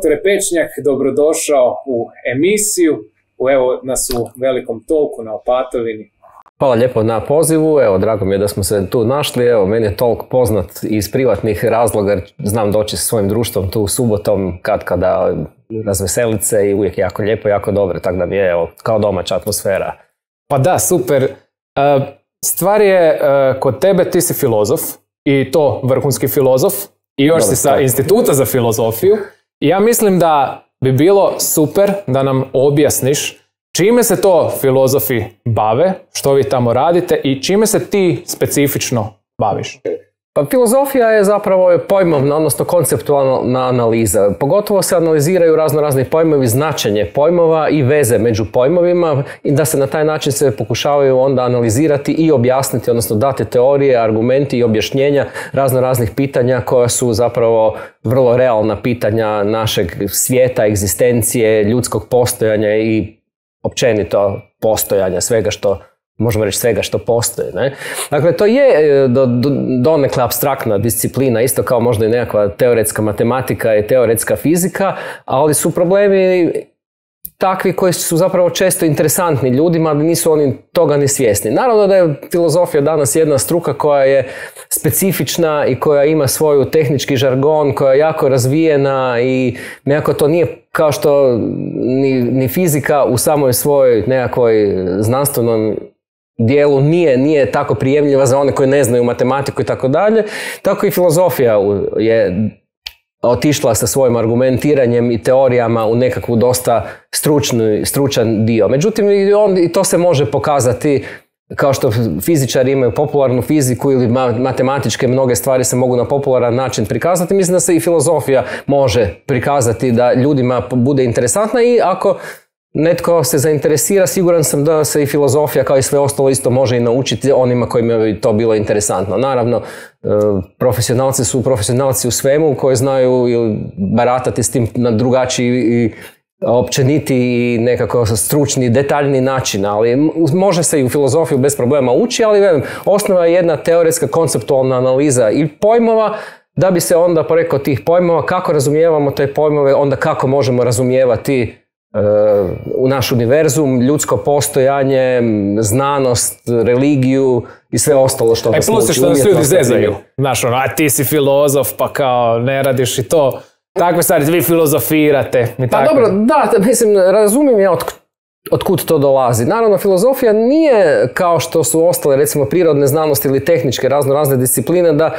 doktore Pečnjak, dobrodošao u emisiju. Evo nas u velikom Talku na Opatovini. Hvala lijepo na pozivu, evo drago mi je da smo se tu našli, evo meni je Talk poznat iz privatnih razloga jer znam doći sa svojim društvom tu subotom kada razveselit se i uvijek jako lijepo, jako dobro, tako da mi je evo, kao domaća atmosfera. Pa da, super. Stvar je, kod tebe ti si filozof i to vrhunski filozof i još si sa Instituta za filozofiju i ja mislim da bi bilo super da nam objasniš čime se to filozofi bave, što vi tamo radite i čime se ti specifično baviš? Pa filozofija je zapravo pojmovna, odnosno konceptualna analiza. Pogotovo se analiziraju razni pojmovi, značenje pojmova i veze među pojmovima i da se na taj način se pokušavaju onda analizirati i objasniti, odnosno dati teorije, argumenti i objašnjenja raznih pitanja koja su zapravo vrlo realna pitanja našeg svijeta, egzistencije, ljudskog postojanja i općenito postojanja svega što možemo reći svega što postoji. Ne? Dakle, to je donekle apstraktna disciplina, isto kao možda i nekakva teoretska matematika i teoretska fizika, ali su problemi takvi koji su zapravo često interesantni ljudima, ali nisu oni toga ni svjesni. Naravno da je filozofija danas jedna struka koja je specifična i koja ima svoju tehnički žargon, koja je jako razvijena i nekako to nije kao što ni fizika u samoj svojoj nekakvoj znanstvenom dijelu nije tako prijemljiva za one koji ne znaju matematiku i tako dalje, tako i filozofija je otišla sa svojim argumentiranjem i teorijama u nekakvu dosta stručan dio. Međutim, i to se može pokazati kao što fizičari imaju popularnu fiziku ili matematičke mnoge stvari se mogu na popularan način prikazati. Mislim da se i filozofija može prikazati da ljudima bude interesantna i ako netko se zainteresira, siguran sam da se i filozofija kao i sve ostalo isto može i naučiti onima kojima bi to bilo interesantno. Naravno, profesionalci su profesionalci u svemu koji znaju baratati s tim na drugačiji i općeniti i nekako stručni, detaljni način, ali može se i u filozofiju bez problema ući, ali velim, osnova je jedna teoretska konceptualna analiza i pojmova, da bi se onda preko tih pojmova, kako razumijevamo te pojmove, onda kako možemo razumijevati u naš univerzum, ljudsko postojanje, znanost, religiju i sve ostalo što nas muči. Što nas ljudi zezaju. Znaš, a ti si filozof, pa kao ne radiš i to. Takve stvari, vi filozofirate. Pa dobro, da, mislim, razumijem ja otkud to dolazi. Naravno, filozofija nije kao što su ostale, recimo, prirodne znanosti ili tehničke razne discipline, da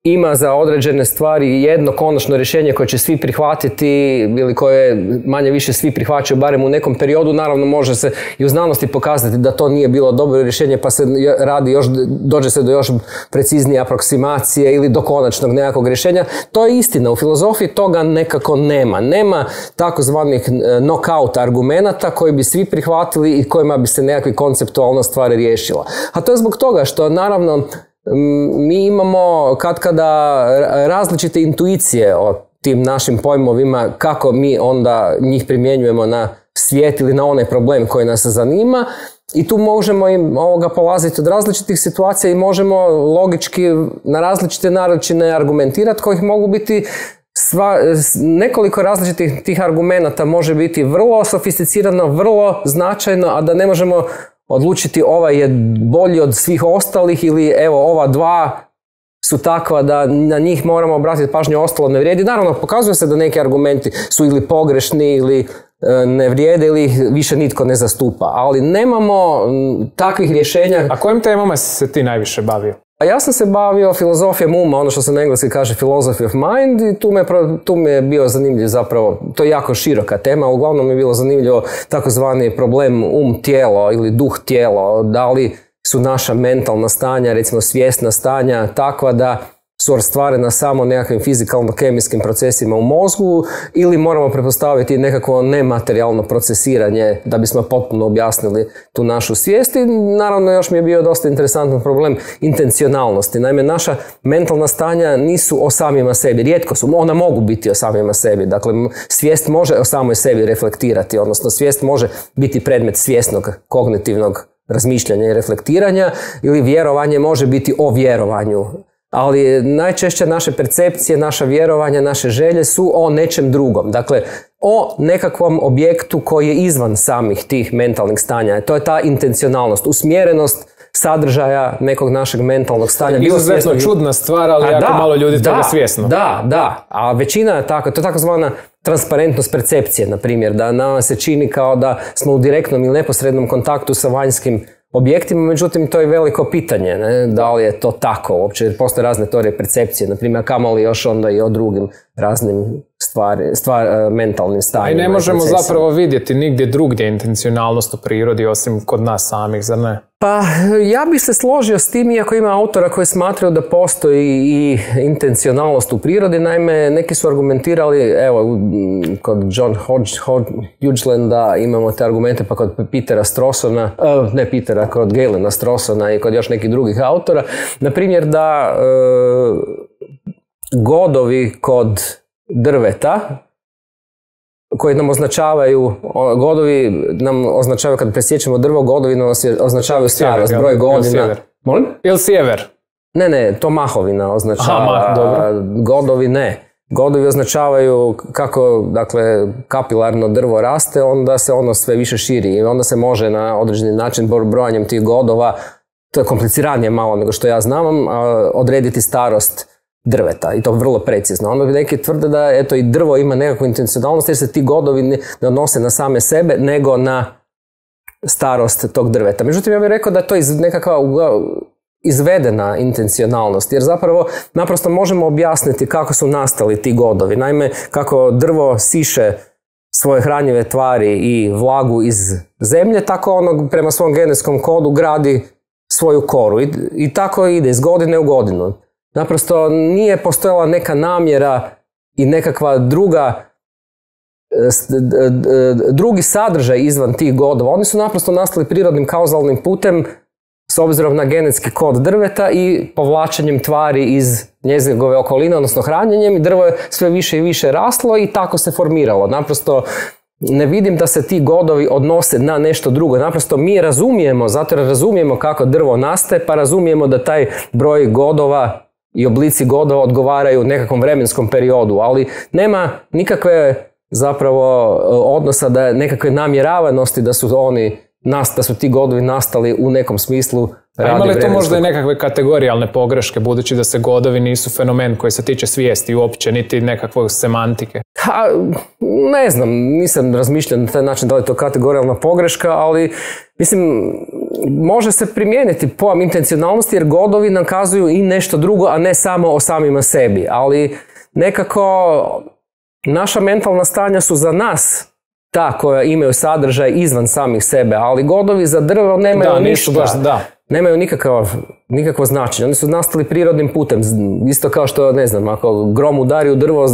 ima za određene stvari jedno konačno rješenje koje će svi prihvatiti ili koje manje više svi prihvaćaju barem u nekom periodu. Naravno može se i u znanosti pokazati da to nije bilo dobro rješenje pa se radi dođe se do još preciznije aproksimacije ili do konačnog nekakvog rješenja. To je istina. U filozofiji toga nekako nema. Nema takozvanih knockout argumenata koji bi svi prihvatili i kojima bi se nekakvi konceptualna stvar riješila. A to je zbog toga što naravno mi imamo katkada različite intuicije o tim našim pojmovima, kako mi onda njih primjenjujemo na svijet ili na onaj problem koji nas zanima i tu možemo polaziti od različitih situacija i možemo logički na različite načine argumentirati kojih mogu biti nekoliko različitih tih argumenata može biti vrlo sofisticirano, vrlo značajno, a da ne možemo odlučiti ovaj je bolji od svih ostalih ili evo ova dva su takva da na njih moramo obratiti pažnju, ostalo ne vrijedi. Naravno, pokazuje se da neki argumenti su ili pogrešni ili ne vrijede ili ih više nitko ne zastupa, ali nemamo takvih rješenja. A kojim temama se ti najviše bavio? Ja sam se bavio filozofijom uma, ono što se na engleski kaže philosophy of mind i tu mi je bio zanimljiv zapravo, to je jako široka tema, uglavnom mi je bilo zanimljivo takozvani problem tijelo ili duh tijelo, da li su naša mentalna stanja, recimo svjesna stanja takva da su ostvarena samo nekakvim fizikalno-kemijskim procesima u mozgu ili moramo pretpostaviti nekakvo nematerijalno procesiranje da bismo potpuno objasnili tu našu svijest. I naravno još mi je bio dosta interesantan problem intencionalnosti. Naime, naša mentalna stanja nisu o samima sebi, rijetko su, ona mogu biti o samima sebi. Dakle, svijest može o samoj sebi reflektirati, odnosno svijest može biti predmet svjesnog kognitivnog razmišljanja i reflektiranja ili vjerovanje može biti o vjerovanju. ali najčešće naše percepcije, naša vjerovanja, naše želje su o nečem drugom. Dakle, o nekakvom objektu koji je izvan samih tih mentalnih stanja. To je ta intencionalnost, usmjerenost sadržaja nekog našeg mentalnog stanja. Izuzetno čudna stvar, ali jako malo ljudi toga svjesno. Da, a većina je tako. To je takozvana transparentnost percepcije, na primjer, da nama se čini kao da smo u direktnom ili neposrednom kontaktu sa vanjskim objektima, međutim to je veliko pitanje, ne? Da li je to tako uopće, postoje razne teorije percepcije, na primjer, kamoli još onda i o drugim raznim mentalnim stanjima. I ne možemo zapravo vidjeti nigdje drugdje intencionalnost u prirodi osim kod nas samih, zar ne? Pa ja bih se složio s tim, iako ima autora koji smatraju da postoji i intencionalnost u prirodi. Naime, neki su argumentirali, evo, kod John Hodglanda imamo te argumente, pa kod Petera Strawsona, kod Galena Strawsona i kod još nekih drugih autora. Na primjer, da godovi kod drveta, koji nam označavaju, godovi nam označavaju, kad presjećemo drvo, godovi nam označavaju starost, broj godina. Molim? Ili sjever? Ne, to mahovina označava. Godovi ne. Godovi označavaju kako, dakle, kapilarno drvo raste, onda se ono sve više širi i onda se može na određeni način brojanjem tih godova, to je kompliciranije malo nego što ja znam, odrediti starost drveta i to vrlo precizno. Onda neki tvrde da eto i drvo ima nekakvu intencionalnost jer se ti godovi ne odnose na same sebe nego na starost tog drveta. Međutim, ja bih rekao da je to nekakva izvedena intencionalnost, jer zapravo naprosto možemo objasniti kako su nastali ti godovi. Naime, kako drvo siše svoje hranjive tvari i vlagu iz zemlje, tako ono prema svom genetskom kodu gradi svoju koru i tako ide iz godine u godinu. Naprosto nije postojala neka namjera i nekakva drugi sadržaj izvan tih godova. Oni su naprosto nastali prirodnim kauzalnim putem s obzirom na genetski kod drveta i povlačenjem tvari iz njegove okoline, odnosno hranjenjem, i drvo je sve više i više raslo i tako se formiralo. Naprosto ne vidim da se ti godovi odnose na nešto drugo. Naprosto mi razumijemo, zato jer razumijemo kako drvo nastaje, pa razumijemo da taj broj godova i oblici godova odgovaraju nekakvom vremenskom periodu, ali nema nikakve zapravo odnosa, da nekakve namjeravanosti da su ti godovi nastali u nekom smislu radi vremenskog. Ima li to možda i vremenskog... nekakve kategorijalne pogreške, budući da se godovi nisu fenomen koji se tiče svijesti uopće, niti nekakvog semantike? Ne znam, nisam razmišljao na taj način da li je to kategorijalna pogreška, ali mislim, može se primijeniti pojam intencionalnosti jer godovi nam kazuju i nešto drugo, a ne samo o samima sebi. Ali nekako naša mentalna stanja su za nas ta koja imaju sadržaj izvan samih sebe, ali godovi za drvo nemaju ništa. Nemaju nikakvo značenje. Oni su nastali prirodnim putem. Isto kao što, ne znam, ako grom udari u drvo,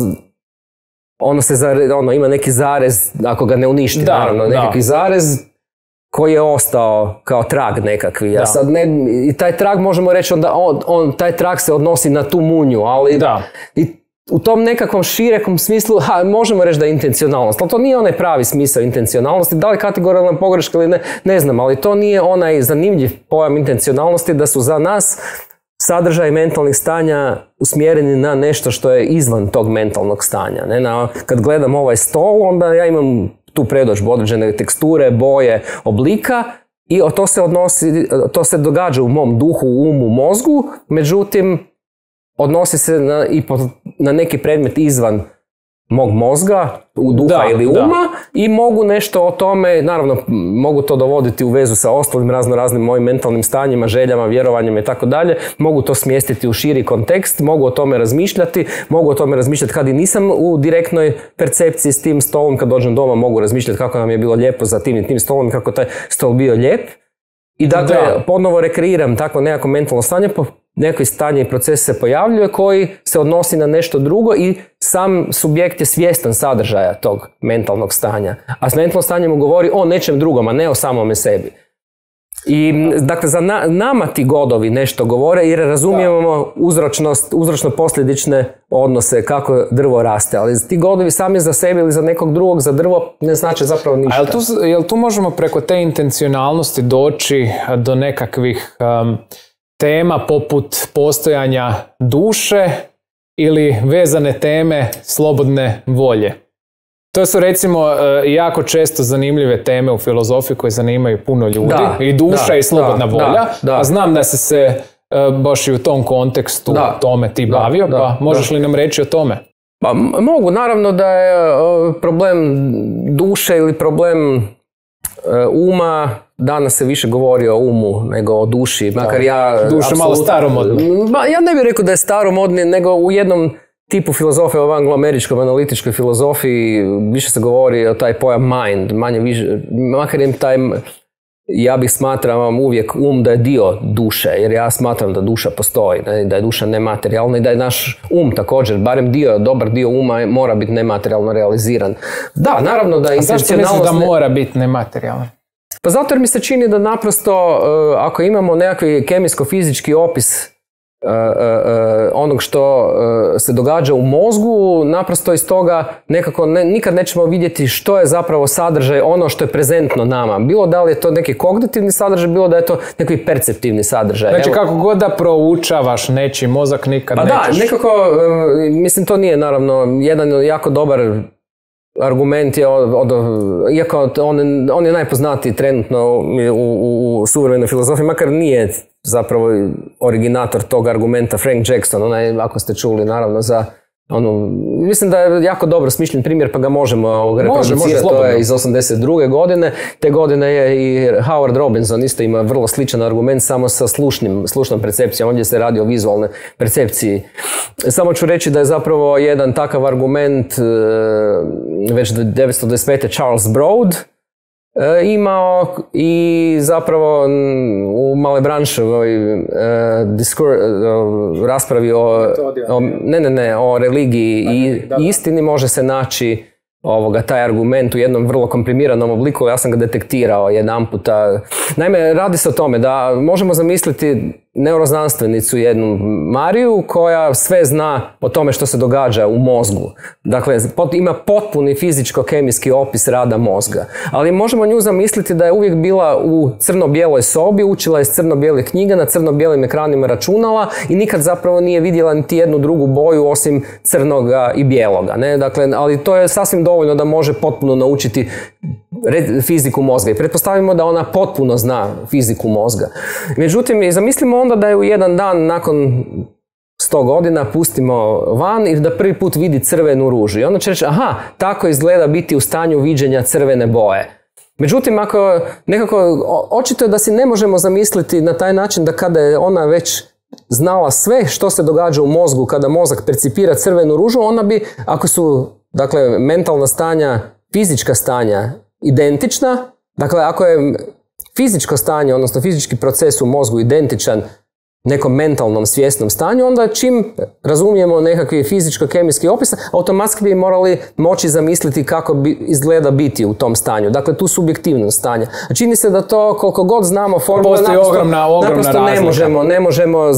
ono ima neki zarez, ako ga ne uništi, nekakvi zarez koji je ostao kao trag nekakvi. I taj trag možemo reći taj trag se odnosi na tu munju, ali u tom nekakvom širekom smislu možemo reći da je intencionalnost, ali to nije onaj pravi smisao intencionalnosti. Da li kategorijalna pogreška ili ne znam, ali to nije onaj zanimljiv pojam intencionalnosti da su za nas sadržaj mentalnih stanja usmjereni na nešto što je izvan tog mentalnog stanja. Kad gledam ovaj stol, onda ja imam tu predodžbu određene teksture, boje, oblika i to se događa u mom duhu, umu, mozgu, međutim odnosi se na neki predmet izvan mog mozga, duha ili uma i mogu nešto o tome, naravno mogu to dovoditi u vezu sa ostalim raznim mojim mentalnim stanjima, željama, vjerovanjima i tako dalje, mogu to smjestiti u širi kontekst, mogu o tome razmišljati kad i nisam u direktnoj percepciji s tim stolom, kad dođem doma mogu razmišljati kako nam je bilo lijepo za tim i tim stolom, kako taj stol bio lijep i dakle ponovo rekreiram tako nekako mentalno stanje, neko stanje i proces se pojavljuje koji se odnosi na nešto drugo i sam subjekt je svjestan sadržaja tog mentalnog stanja. A s mentalnom stanjem govori o nečem drugom, a ne o samome sebi. I dakle, za nama ti godovi nešto govore jer razumijemo uzročno-posljedične odnose kako drvo raste, ali ti godovi sami za sebe ili za nekog drugog, za drvo, ne znači zapravo ništa. Jel tu možemo preko te intencionalnosti doći do nekakvih tema poput postojanja duše ili vezane teme slobodne volje. To su recimo jako često zanimljive teme u filozofiji koje zanimaju puno ljudi. I duša i slobodna volja. A znam da si se baš i u tom kontekstu tome ti bavio, pa možeš li nam reći o tome? Pa mogu, naravno da je problem duše ili problem uma, danas se više govori o umu nego o duši, makar duša malo staromodna. Ja ne bih rekao da je staromodni, nego u jednom tipu filozofije, o angloameričkoj analitičkoj filozofiji, više se govori o taj pojam mind, manje više, makar im taj, ja bih smatram uvijek da je dio duše, jer ja smatram da duša postoji, da je duša nematerijalna i da je naš također, barem dobar dio uma mora biti nematerijalno realiziran. Da, naravno da je intencionalnost... A zašto misliš da mora biti nematerijalan? Pa zato jer mi se čini da naprosto, ako imamo nekakvi kemijsko-fizički opis onog što se događa u mozgu, naprosto iz toga nekako nikad nećemo vidjeti što je zapravo sadržaj ono što je prezentno nama. Bilo da li je to neki kognitivni sadržaj, bilo da je to neki perceptivni sadržaj. Znači kako god da proučavaš nečiji mozak nikad nećeš... Pa da, nekako, mislim to nije naravno jedan jako dobar argument je, iako on je najpoznatiji trenutno u suvremenoj filozofiji, makar nije zapravo originator tog argumenta Frank Jackson, onaj, ako ste čuli, naravno za mislim da je jako dobro smišljen primjer, pa ga možemo reproducirati, to je iz 82. godine. Te godine je i Howard Robinson isto ima vrlo sličan argument, samo sa slušnom percepcijom, ovdje se radi o vizualnoj percepciji. Samo ću reći da je zapravo jedan takav argument već 1925. Charles Broad imao i zapravo u Malebranševoj raspravi o religiji i istini može se naći taj argument u jednom vrlo komprimiranom obliku. Ja sam ga detektirao jedan puta. Naime, radi se o tome da možemo zamisliti neuroznanstvenicu jednu Mariju koja sve zna o tome što se događa u mozgu. Dakle, ima potpuni fizičko-kemijski opis rada mozga. Ali možemo nju zamisliti da je uvijek bila u crno-bijeloj sobi, učila iz crno-bijelih knjiga na crno-bijelim ekranima računala i nikad zapravo nije vidjela niti jednu drugu boju osim crnoga i bijeloga. Ne? Dakle, ali to je sasvim dovoljno da može potpuno naučiti fiziku mozga i pretpostavimo da ona potpuno zna fiziku mozga. Međutim, zamislimo onda da je u jedan dan nakon 100 godina pustimo van i da prvi put vidi crvenu ružu. I onda će reći, aha, tako izgleda biti u stanju viđenja crvene boje. Međutim, ako nekako, očito je da si ne možemo zamisliti na taj način da kada je ona već znala sve što se događa u mozgu, kada mozak percipira crvenu ružu, ona bi, ako su, dakle, mentalna stanja, fizička stanja identična, dakle, ako je fizičko stanje, odnosno fizički proces u mozgu identičan nekom mentalnom svjesnom stanju, onda čim razumijemo nekakvi fizičko-kemijski opis, automatski bi morali moći zamisliti kako izgleda biti u tom stanju. Dakle, tu subjektivnost stanja. A čini se da to, koliko god znamo formule, naprosto ne možemo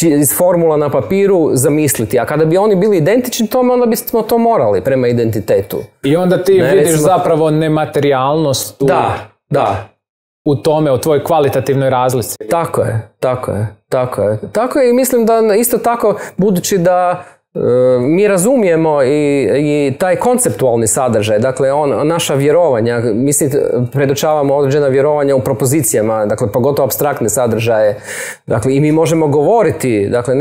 iz formula na papiru zamisliti. A kada bi oni bili identični tome, onda bismo to morali prema identitetu. I onda ti vidiš zapravo nematerijalnost u tome, u tvojoj kvalitativnoj razlici. Tako je i mislim da isto tako, budući da mi razumijemo i taj konceptualni sadržaj, dakle naša vjerovanja, mislim, predočavamo određena vjerovanja u propozicijama, dakle pogotovo apstraktne sadržaje, dakle i mi možemo govoriti, dakle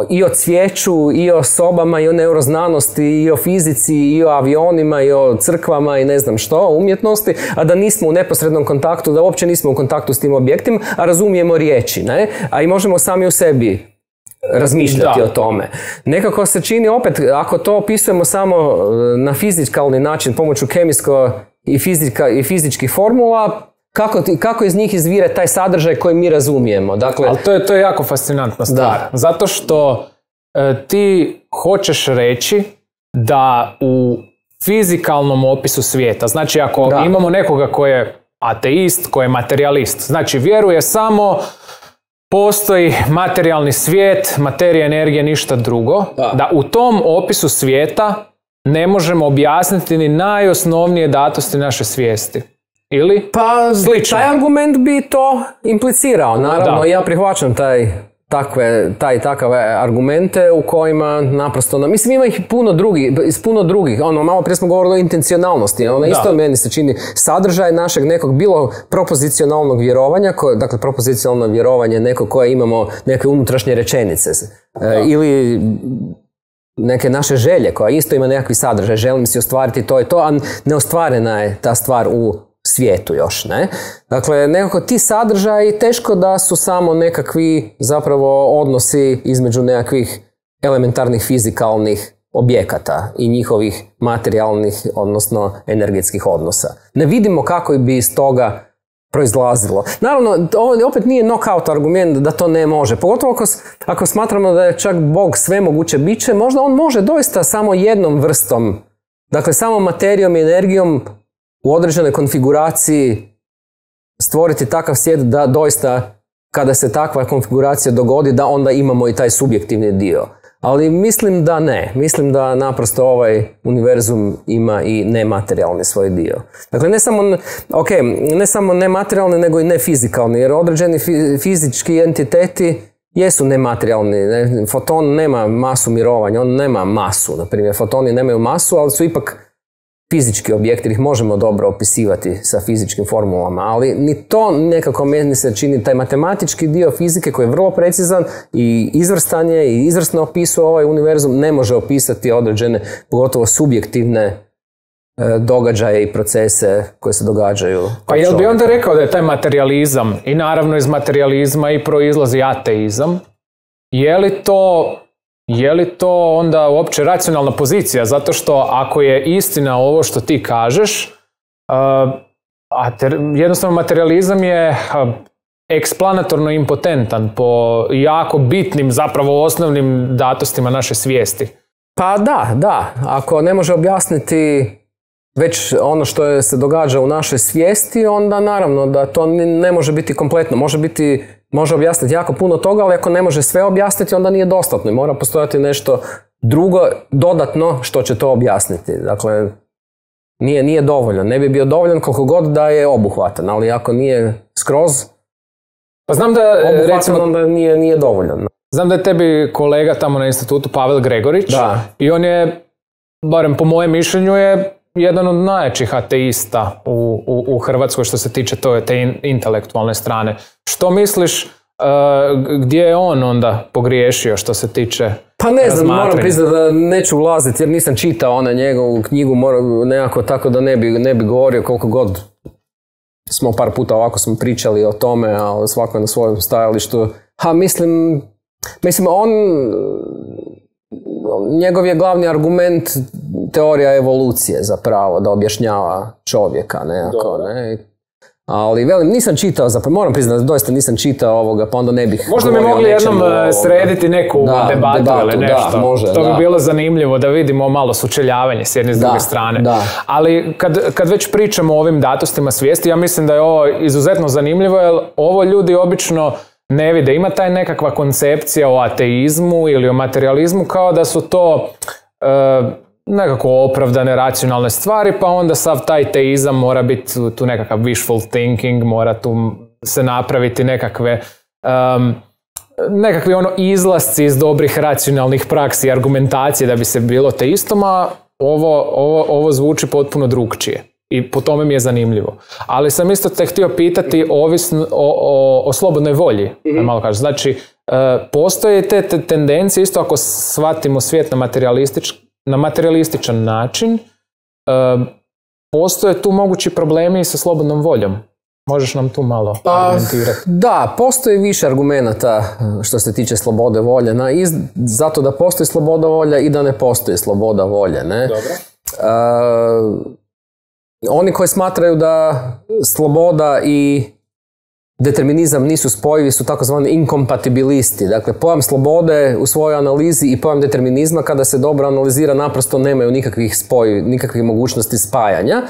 i o cvijeću, i o sobama, i o neuroznanosti, i o fizici, i o avionima, i o crkvama i ne znam što, umjetnosti, a da nismo u neposrednom kontaktu, da uopće nismo u kontaktu s tim objektima, a razumijemo riječi, ne? A i možemo sami u sebi razmišljati o tome. Nekako se čini opet, ako to opisujemo samo na fizikalni način pomoću kemijsko i fizičkih formula, kako iz njih izvire taj sadržaj koji mi razumijemo. Dakle, ali to je jako fascinantna stvar. Zato što ti hoćeš reći da u fizikalnom opisu svijeta, znači ako imamo nekoga ko je ateist, ko je materijalist, znači vjeruje samo postoji materijalni svijet, materija, energija, ništa drugo, da u tom opisu svijeta ne možemo objasniti ni najosnovnije datosti naše svijesti. Ili slično? Taj argument bi to implicirao. Naravno, ja prihvaćam takve argumente u kojima naprosto, mislim ima ih puno drugih, malo prije smo govorili o intencionalnosti, isto meni se čini sadržaj našeg nekog bilo propozicionalnog vjerovanja, dakle propozicionalno vjerovanje neko koje imamo neke unutrašnje rečenice, ili neke naše želje koja isto ima nekakvi sadržaj, želim si ostvariti to i to, a neostvarena je ta stvar u svijetu još, ne? Dakle, nekako ti sadržaji teško da su samo nekakvi zapravo odnosi između nekakvih elementarnih fizikalnih objekata i njihovih materijalnih, odnosno energetskih odnosa. Ne vidimo kako bi iz toga proizlazilo. Naravno, ovo opet nije knockout argument da to ne može. Pogotovo ako smatramo da je čak Bog svemoguće biće, možda on može doista samo jednom vrstom, dakle samo materijom i energijom u određenoj konfiguraciji stvoriti takav svijet da doista kada se takva konfiguracija dogodi da onda imamo i taj subjektivni dio. Ali mislim da ne. Mislim da naprosto ovaj univerzum ima i nematerijalni svoj dio. Dakle, ne samo nematerijalni nego i nefizikalni, jer određeni fizički entiteti jesu nematerijalni. Ne? Foton nema masu mirovanja, on nema masu. Naprimjer, fotoni nemaju masu, ali su ipak fizički objekti, ih možemo dobro opisivati sa fizičkim formulama, ali ni to nekako meni se čini, taj matematički dio fizike koji je vrlo precizan i izvrstan je i izvrsno opisuje ovaj univerzum, ne može opisati određene, pogotovo subjektivne događaje i procese koje se događaju. Pa jel bi onda rekao da je taj materializam, i naravno iz materializma i proizlazi ateizam, je li to onda uopće racionalna pozicija? Zato što ako je istina ovo što ti kažeš, jednostavno materializam je eksplanatorno impotentan po jako bitnim, zapravo osnovnim datostima naše svijesti. Pa da. Ako ne može objasniti već ono što se događa u našoj svijesti, onda naravno da to ne može biti kompletno. Može objasniti jako puno toga, ali ako ne može sve objasniti, onda nije dostatno. Mora postojati nešto drugo, dodatno, što će to objasniti. Dakle, nije dovoljno. Ne bi bio dovoljan koliko god da je obuhvatan, ali ako nije skroz pa znam da, obuhvatan, onda nije dovoljan. Znam da je tebi kolega tamo na institutu Pavel Gregorić, i on je, barem po mojem mišljenju, je jedan od najjačih ateista u Hrvatskoj što se tiče te intelektualne strane. Što misliš, gdje je on onda pogriješio što se tiče pa ne znam, moram priznati da neću ulaziti jer nisam čitao njegovu knjigu, nekako tako da ne bi govorio koliko god smo par puta ovako smo pričali o tome, ali svako na svojem stajalištu. Mislim, njegov je glavni argument teorija evolucije zapravo, da objašnjava čovjeka nekako, ne? Ali velim, nisam čitao, moram priznati da doista nisam čitao ovoga, pa onda ne bih možda bi mogli jednom srediti neku debatu ili nešto. Da, može, to bi bilo zanimljivo da vidimo malo sučeljavanje s jedne i s druge strane. Ali kad već pričamo o ovim datostima svijesti, ja mislim da je ovo izuzetno zanimljivo, jer ovo ljudi obično ne vide. Ima taj nekakva koncepcija o ateizmu ili o materializmu kao da su to nekako opravdane, racionalne stvari, pa onda sav taj teizam mora biti tu nekakav wishful thinking, mora tu se napraviti nekakvi izlasci iz dobrih racionalnih praksi i argumentacije da bi se bilo teistom, a ovo zvuči potpuno drukčije. I po tome mi je zanimljivo. Ali sam isto te htio pitati o slobodnoj volji. Malo kažem. Znači, postoje te tendencije, isto ako shvatimo svijet na materialističan način, postoje tu mogući problemi sa slobodnom voljom. Možeš nam tu malo argumentirati? Da, postoji više argumenata što se tiče slobode volje. Zato da postoji sloboda volja i da ne postoji sloboda volje. Ne? Dobro. Oni koji smatraju da sloboda i determinizam nisu spojivi su takozvani inkompatibilisti. Dakle, pojam slobode u svojoj analizi i pojam determinizma kada se dobro analizira naprosto nemaju nikakvih mogućnosti spajanja.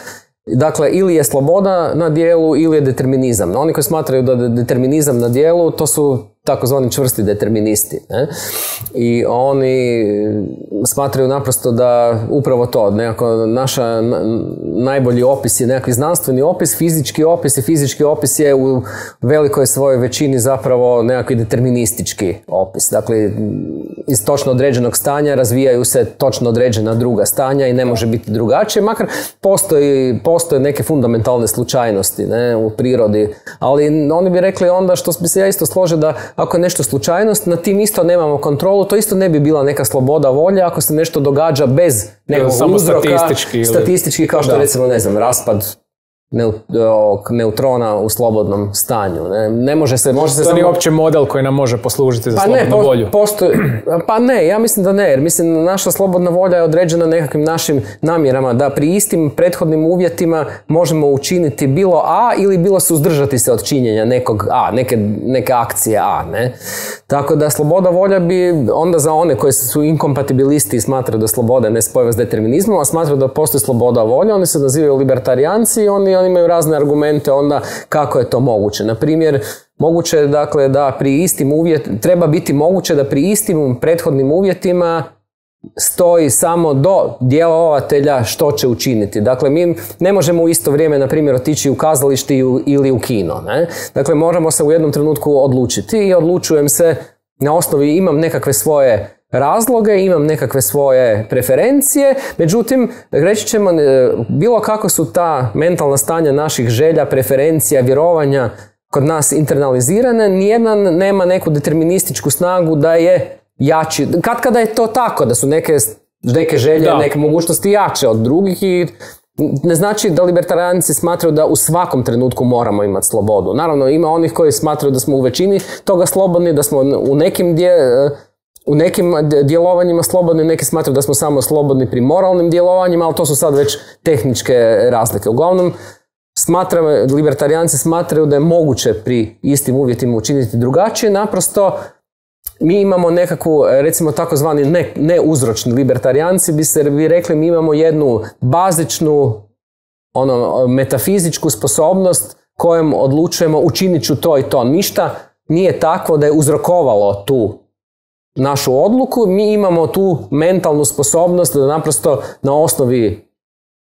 Dakle, ili je sloboda na dijelu ili je determinizam. Oni koji smatraju da je determinizam na dijelu, to su takozvani čvrsti deterministi. Ne? I oni smatraju naprosto da upravo to, nekako naša najbolji opis je nekakvi znanstveni opis, fizički opis, i fizički opis je u velikoj svojoj većini zapravo nekakvi deterministički opis. Dakle, iz točno određenog stanja razvijaju se točno određena druga stanja i ne može biti drugačije, makar postoje neke fundamentalne slučajnosti, ne, u prirodi, ali oni bi rekli onda, što bi se ja isto složio, da ako je nešto slučajnost, na tim isto nemamo kontrolu, to isto ne bi bila neka sloboda volje ako se nešto događa bez nekog uzroka, statistički kao što recimo, ne znam, raspad neutrona u slobodnom stanju. Ne može se... To nije uopće model koji nam može poslužiti za slobodnu volju. Pa ne, ja mislim da ne, jer mislim naša slobodna volja je određena nekakvim našim namjerama, da pri istim prethodnim uvjetima možemo učiniti bilo A ili bilo suzdržati se od činjenja nekog A, neke akcije A. Ne? Tako da sloboda volja bi onda za one koji su inkompatibilisti i smatraju da sloboda je nespojiva s determinizmom, a smatraju da postoji sloboda volja, oni se nazivaju libertarijanci i oni imaju razne argumente onda kako je to moguće. Na primjer, moguće je dakle da pri istim treba biti moguće da pri istim prethodnim uvjetima stoji samo do djelovatelja što će učiniti. Dakle, mi ne možemo u isto vrijeme, na primjer, otići u kazalište ili u kino. Ne? Dakle, moramo se u jednom trenutku odlučiti i odlučujem se na osnovi, imam nekakve svoje razloge, imam nekakve svoje preferencije, međutim, reći ćemo, bilo kako su ta mentalna stanja naših želja, preferencija, vjerovanja kod nas internalizirane, nijedan nema neku determinističku snagu da je jači. Kada je to tako, da su neke želje, neke mogućnosti jače od drugih, i ne znači da libertarijanci smatraju da u svakom trenutku moramo imati slobodu. Naravno, ima onih koji smatraju da smo u većini toga slobodni, da smo u nekim djelovanjima slobodni, neki smatraju da smo samo slobodni pri moralnim djelovanjima, ali to su sad već tehničke razlike. Uglavnom, libertarijanci smatraju da je moguće pri istim uvjetima učiniti drugačije, naprosto mi imamo nekakvu, recimo takozvani neuzročni libertarijanci bi rekli, mi imamo jednu bazičnu metafizičku sposobnost kojom odlučujemo učinit ću to i to. Ništa nije takvo da je uzrokovalo tu našu odluku, mi imamo tu mentalnu sposobnost da naprosto na osnovi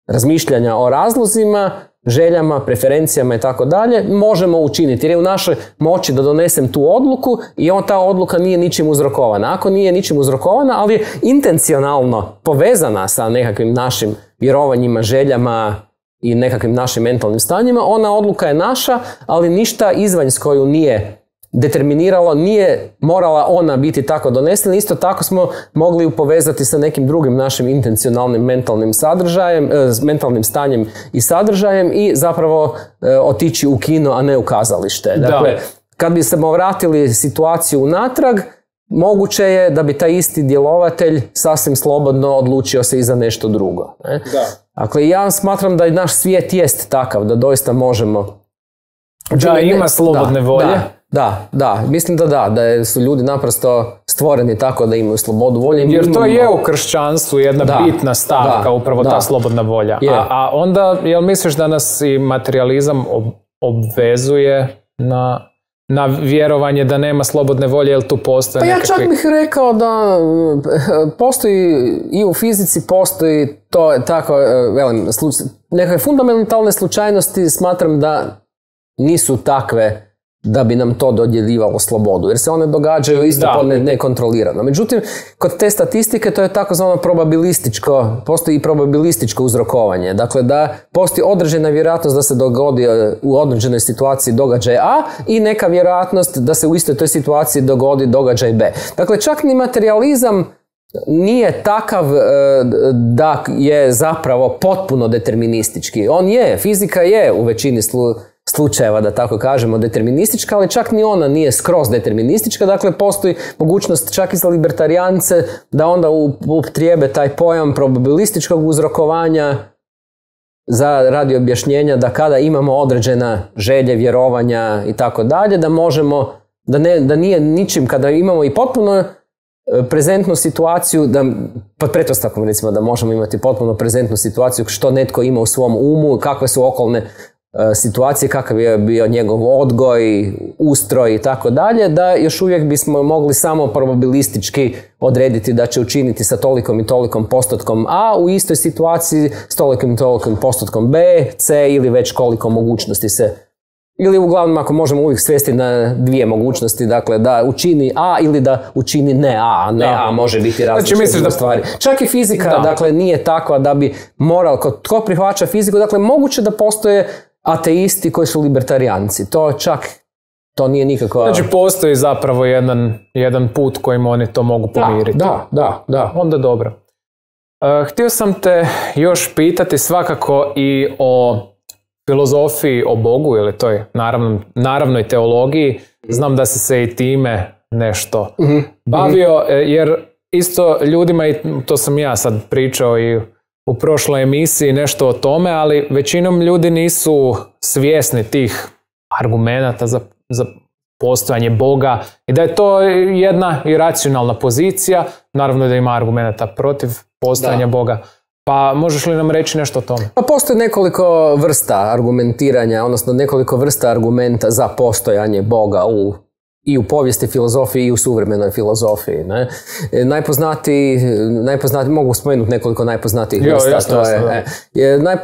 razmišljanja o razlozima, željama, preferencijama i tako dalje možemo učiniti. Jer je u našoj moći da donesem tu odluku i ta odluka nije ničim uzrokovana. Ako nije ničim uzrokovana, ali je intencionalno povezana sa nekakvim našim vjerovanjima, željama i nekakvim našim mentalnim stanjima, ona odluka je naša, ali ništa izvanjsko ju nije determiniralo, nije morala ona biti tako donesena. Isto tako smo mogli ju povezati sa nekim drugim našim intencionalnim mentalnim sadržajem, mentalnim stanjem i sadržajem i zapravo otići u kino, a ne u kazalište. Dakle, kad bi se vratili situaciju unatrag, moguće je da bi taj isti djelovatelj sasvim slobodno odlučio se i za nešto drugo. Ne? Dakle, ja smatram da i naš svijet jest takav, da doista možemo... Da, ima slobodne volje. Da, mislim da su ljudi naprosto stvoreni tako da imaju slobodu volje. Jer to je u kršćanstvu jedna bitna stavka, upravo ta slobodna volja. A onda, jel misliš da nas i materializam obvezuje na vjerovanje da nema slobodne volje, jel tu postoje nekakvi... Pa ja čak bih rekao da postoji i u fizici postoji to tako, nekakve fundamentalne slučajnosti, smatram da nisu takve da bi nam to dodjeljivalo slobodu, jer se one događaju isto nekontrolirano. Međutim, kod te statistike to je takozvano postoji i probabilističko uzrokovanje. Dakle, da postoji određena vjerojatnost da se dogodi u određenoj situaciji događaj A i neka vjerojatnost da se u istoj toj situaciji dogodi događaj B. Dakle, čak ni materializam nije takav da je zapravo potpuno deterministički. Fizika je u većini slučajeva, da tako kažemo, deterministička, ali čak ni ona nije skroz deterministička. Dakle, postoji mogućnost čak i za libertarijance da onda upotrijebe taj pojam probabilističkog uzrokovanja radi objašnjenja da kada imamo određena želje, vjerovanja i tako dalje, da možemo, da nije ničim, kada imamo i potpuno prezentnu situaciju, pod pretpostavkom recimo da možemo imati potpuno prezentnu situaciju što netko ima u svom umu, kakve su okolne situacije, kakav je bio njegov odgoj, ustroj i tako dalje, da još uvijek bismo mogli samo probabilistički odrediti da će učiniti sa tolikom i tolikom postotkom A u istoj situaciji s tolikom i tolikom postotkom B, C ili već koliko mogućnosti se. Ili uglavnom ako možemo uvijek svesti na dvije mogućnosti, dakle da učini A ili da učini ne A, a ne A može biti različite stvari. Čak i fizika, dakle, nije takva da bi moral, tko prihvaća fiziku, dakle moguće da postoje ateisti koji su libertarijanci. To nije nikakva... Znači postoji zapravo jedan put kojim oni to mogu pomiriti. Da. Onda dobro. Htio sam te još pitati svakako i o filozofiji o Bogu ili toj naravnoj teologiji. Znam da si se i time nešto bavio, jer isto ljudima, i to sam ja sad pričao i u prošloj emisiji nešto o tome, ali većinom ljudi nisu svjesni tih argumenata za postojanje Boga i da je to jedna iracionalna pozicija, naravno da ima argumenata protiv postojanja Boga. Pa možeš li nam reći nešto o tome? Pa postoji nekoliko vrsta argumentiranja, odnosno nekoliko vrsta argumenta za postojanje Boga i u povijesti filozofiji i u suvremenoj filozofiji. Ne? Najpoznatiji, mogu spomenuti nekoliko najpoznatijih vrsta.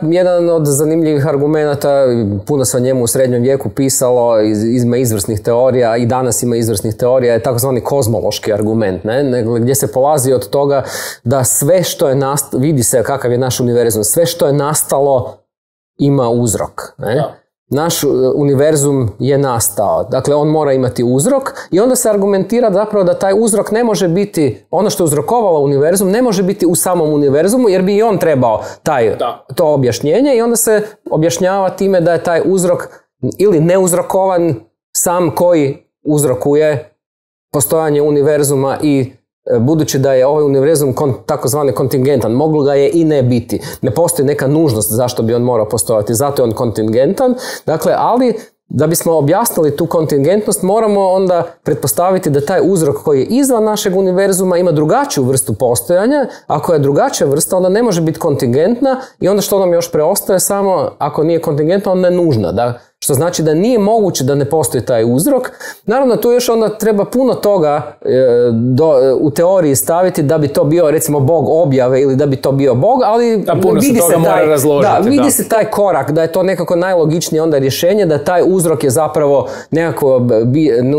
Jedan od zanimljivih argumenata, puno se o njemu u srednjem vijeku pisalo, ima izvrsnih teorija i danas ima izvrsnih teorija, je takozvani kozmološki argument, gdje se polazi od toga da sve što je nastalo, vidi se kakav je naš univerzum, sve što je nastalo ima uzrok. Naš univerzum je nastao, dakle on mora imati uzrok i onda se argumentira zapravo da taj uzrok ne može biti, ono što je uzrokovalo univerzum ne može biti u samom univerzumu jer bi i on trebao to objašnjenje i onda se objašnjava time da je taj uzrok ili neuzrokovan sam koji uzrokuje postojanje univerzuma i budući da je ovaj univerzum takozvani kontingentan, moglo ga je i ne biti. Ne postoji neka nužnost zašto bi on morao postojati, zato je on kontingentan. Dakle, ali da bismo objasnili tu kontingentnost, moramo onda pretpostaviti da taj uzrok koji je izvan našeg univerzuma ima drugačiju vrstu postojanja. Ako je drugačija vrsta, onda ne može biti kontingentna i onda što nam još preostaje samo, ako nije kontingentna, onda je nužna. Što znači da nije moguće da ne postoji taj uzrok. Naravno, tu još onda treba puno toga u teoriji staviti da bi to bio, recimo, Bog objave ili da bi to bio Bog, ali vidi se taj korak, da je to nekako najlogičnije onda rješenje, da taj uzrok je zapravo nekako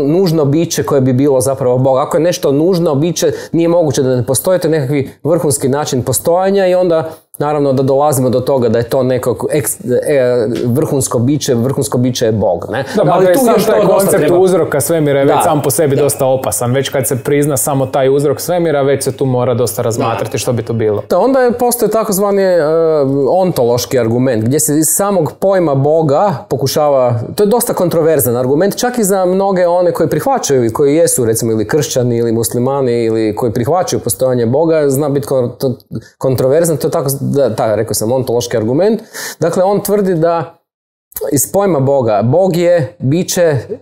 nužno biće koje bi bilo zapravo Bog. Ako je nešto nužno biće, nije moguće da ne postoji, to je nekakvi vrhunski način postojanja i onda naravno da dolazimo do toga da je to nekako vrhunsko biće je Bog. Ne? Ali tu sam taj koncept uzroka svemira je već sam po sebi dosta opasan. Već kad se prizna samo taj uzrok svemira, već se tu mora dosta razmatrati što bi to bilo. Onda postoji takozvani ontološki argument, gdje se iz samog pojma Boga pokušava, to je dosta kontroverzan argument, čak i za mnoge one koji prihvaćaju i koji jesu recimo ili kršćani ili muslimani ili koji prihvaćaju postojanje Boga, zna biti kontroverzan, to je tako, rekao sam, ontološki argument. Dakle, on tvrdi da iz pojma Boga,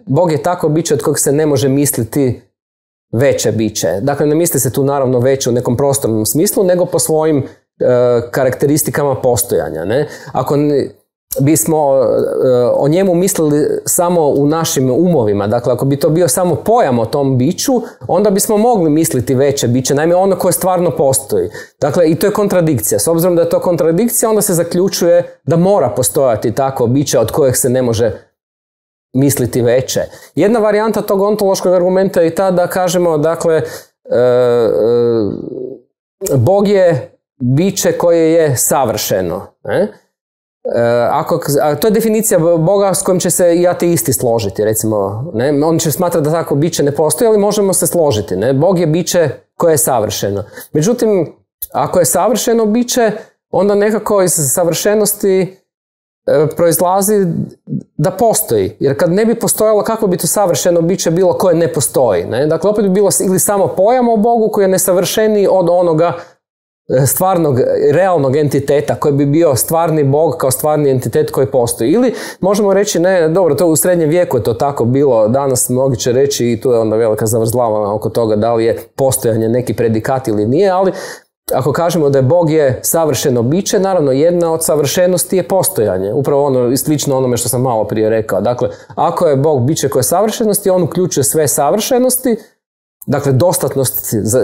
Bog je tako biće od kojeg se ne može misliti veće biće. Dakle, ne misli se tu naravno veće u nekom prostornom smislu, nego po svojim karakteristikama postojanja. Ne? Ako bismo o njemu mislili samo u našim umovima, dakle ako bi to bio samo pojam o tom biću, onda bismo mogli misliti veće biće, naime ono koje stvarno postoji. Dakle, i to je kontradikcija. S obzirom da je to kontradikcija, onda se zaključuje da mora postojati takvo biće od kojeg se ne može misliti veće. Jedna varijanta tog ontološkog argumenta je ta da kažemo, dakle, Bog je biće koje je savršeno. To je definicija Boga s kojim će se i ateisti složiti, recimo. Ne? On će smatrati da tako biće ne postoji, ali možemo se složiti. Ne? Bog je biće koje je savršeno. Međutim, ako je savršeno biće, onda nekako iz savršenosti proizlazi da postoji. Jer kad ne bi postojalo, kako bi to savršeno biće bilo koje ne postoji. Ne? Dakle, opet bi bilo ili samo pojam o Bogu koji je nesavršeniji od onoga stvarnog, realnog entiteta koji bi bio stvarni Bog kao stvarni entitet koji postoji. Ili možemo reći, ne, dobro, to u srednjem vijeku je to tako bilo, danas mnogi će reći i tu je onda velika zavrzlava oko toga da li je postojanje neki predikat ili nije, ali ako kažemo da je Bog je savršeno biće, naravno jedna od savršenosti je postojanje. Upravo ono, slično onome što sam malo prije rekao. Dakle, ako je Bog biće koje je savršenosti, on uključuje sve savršenosti, dakle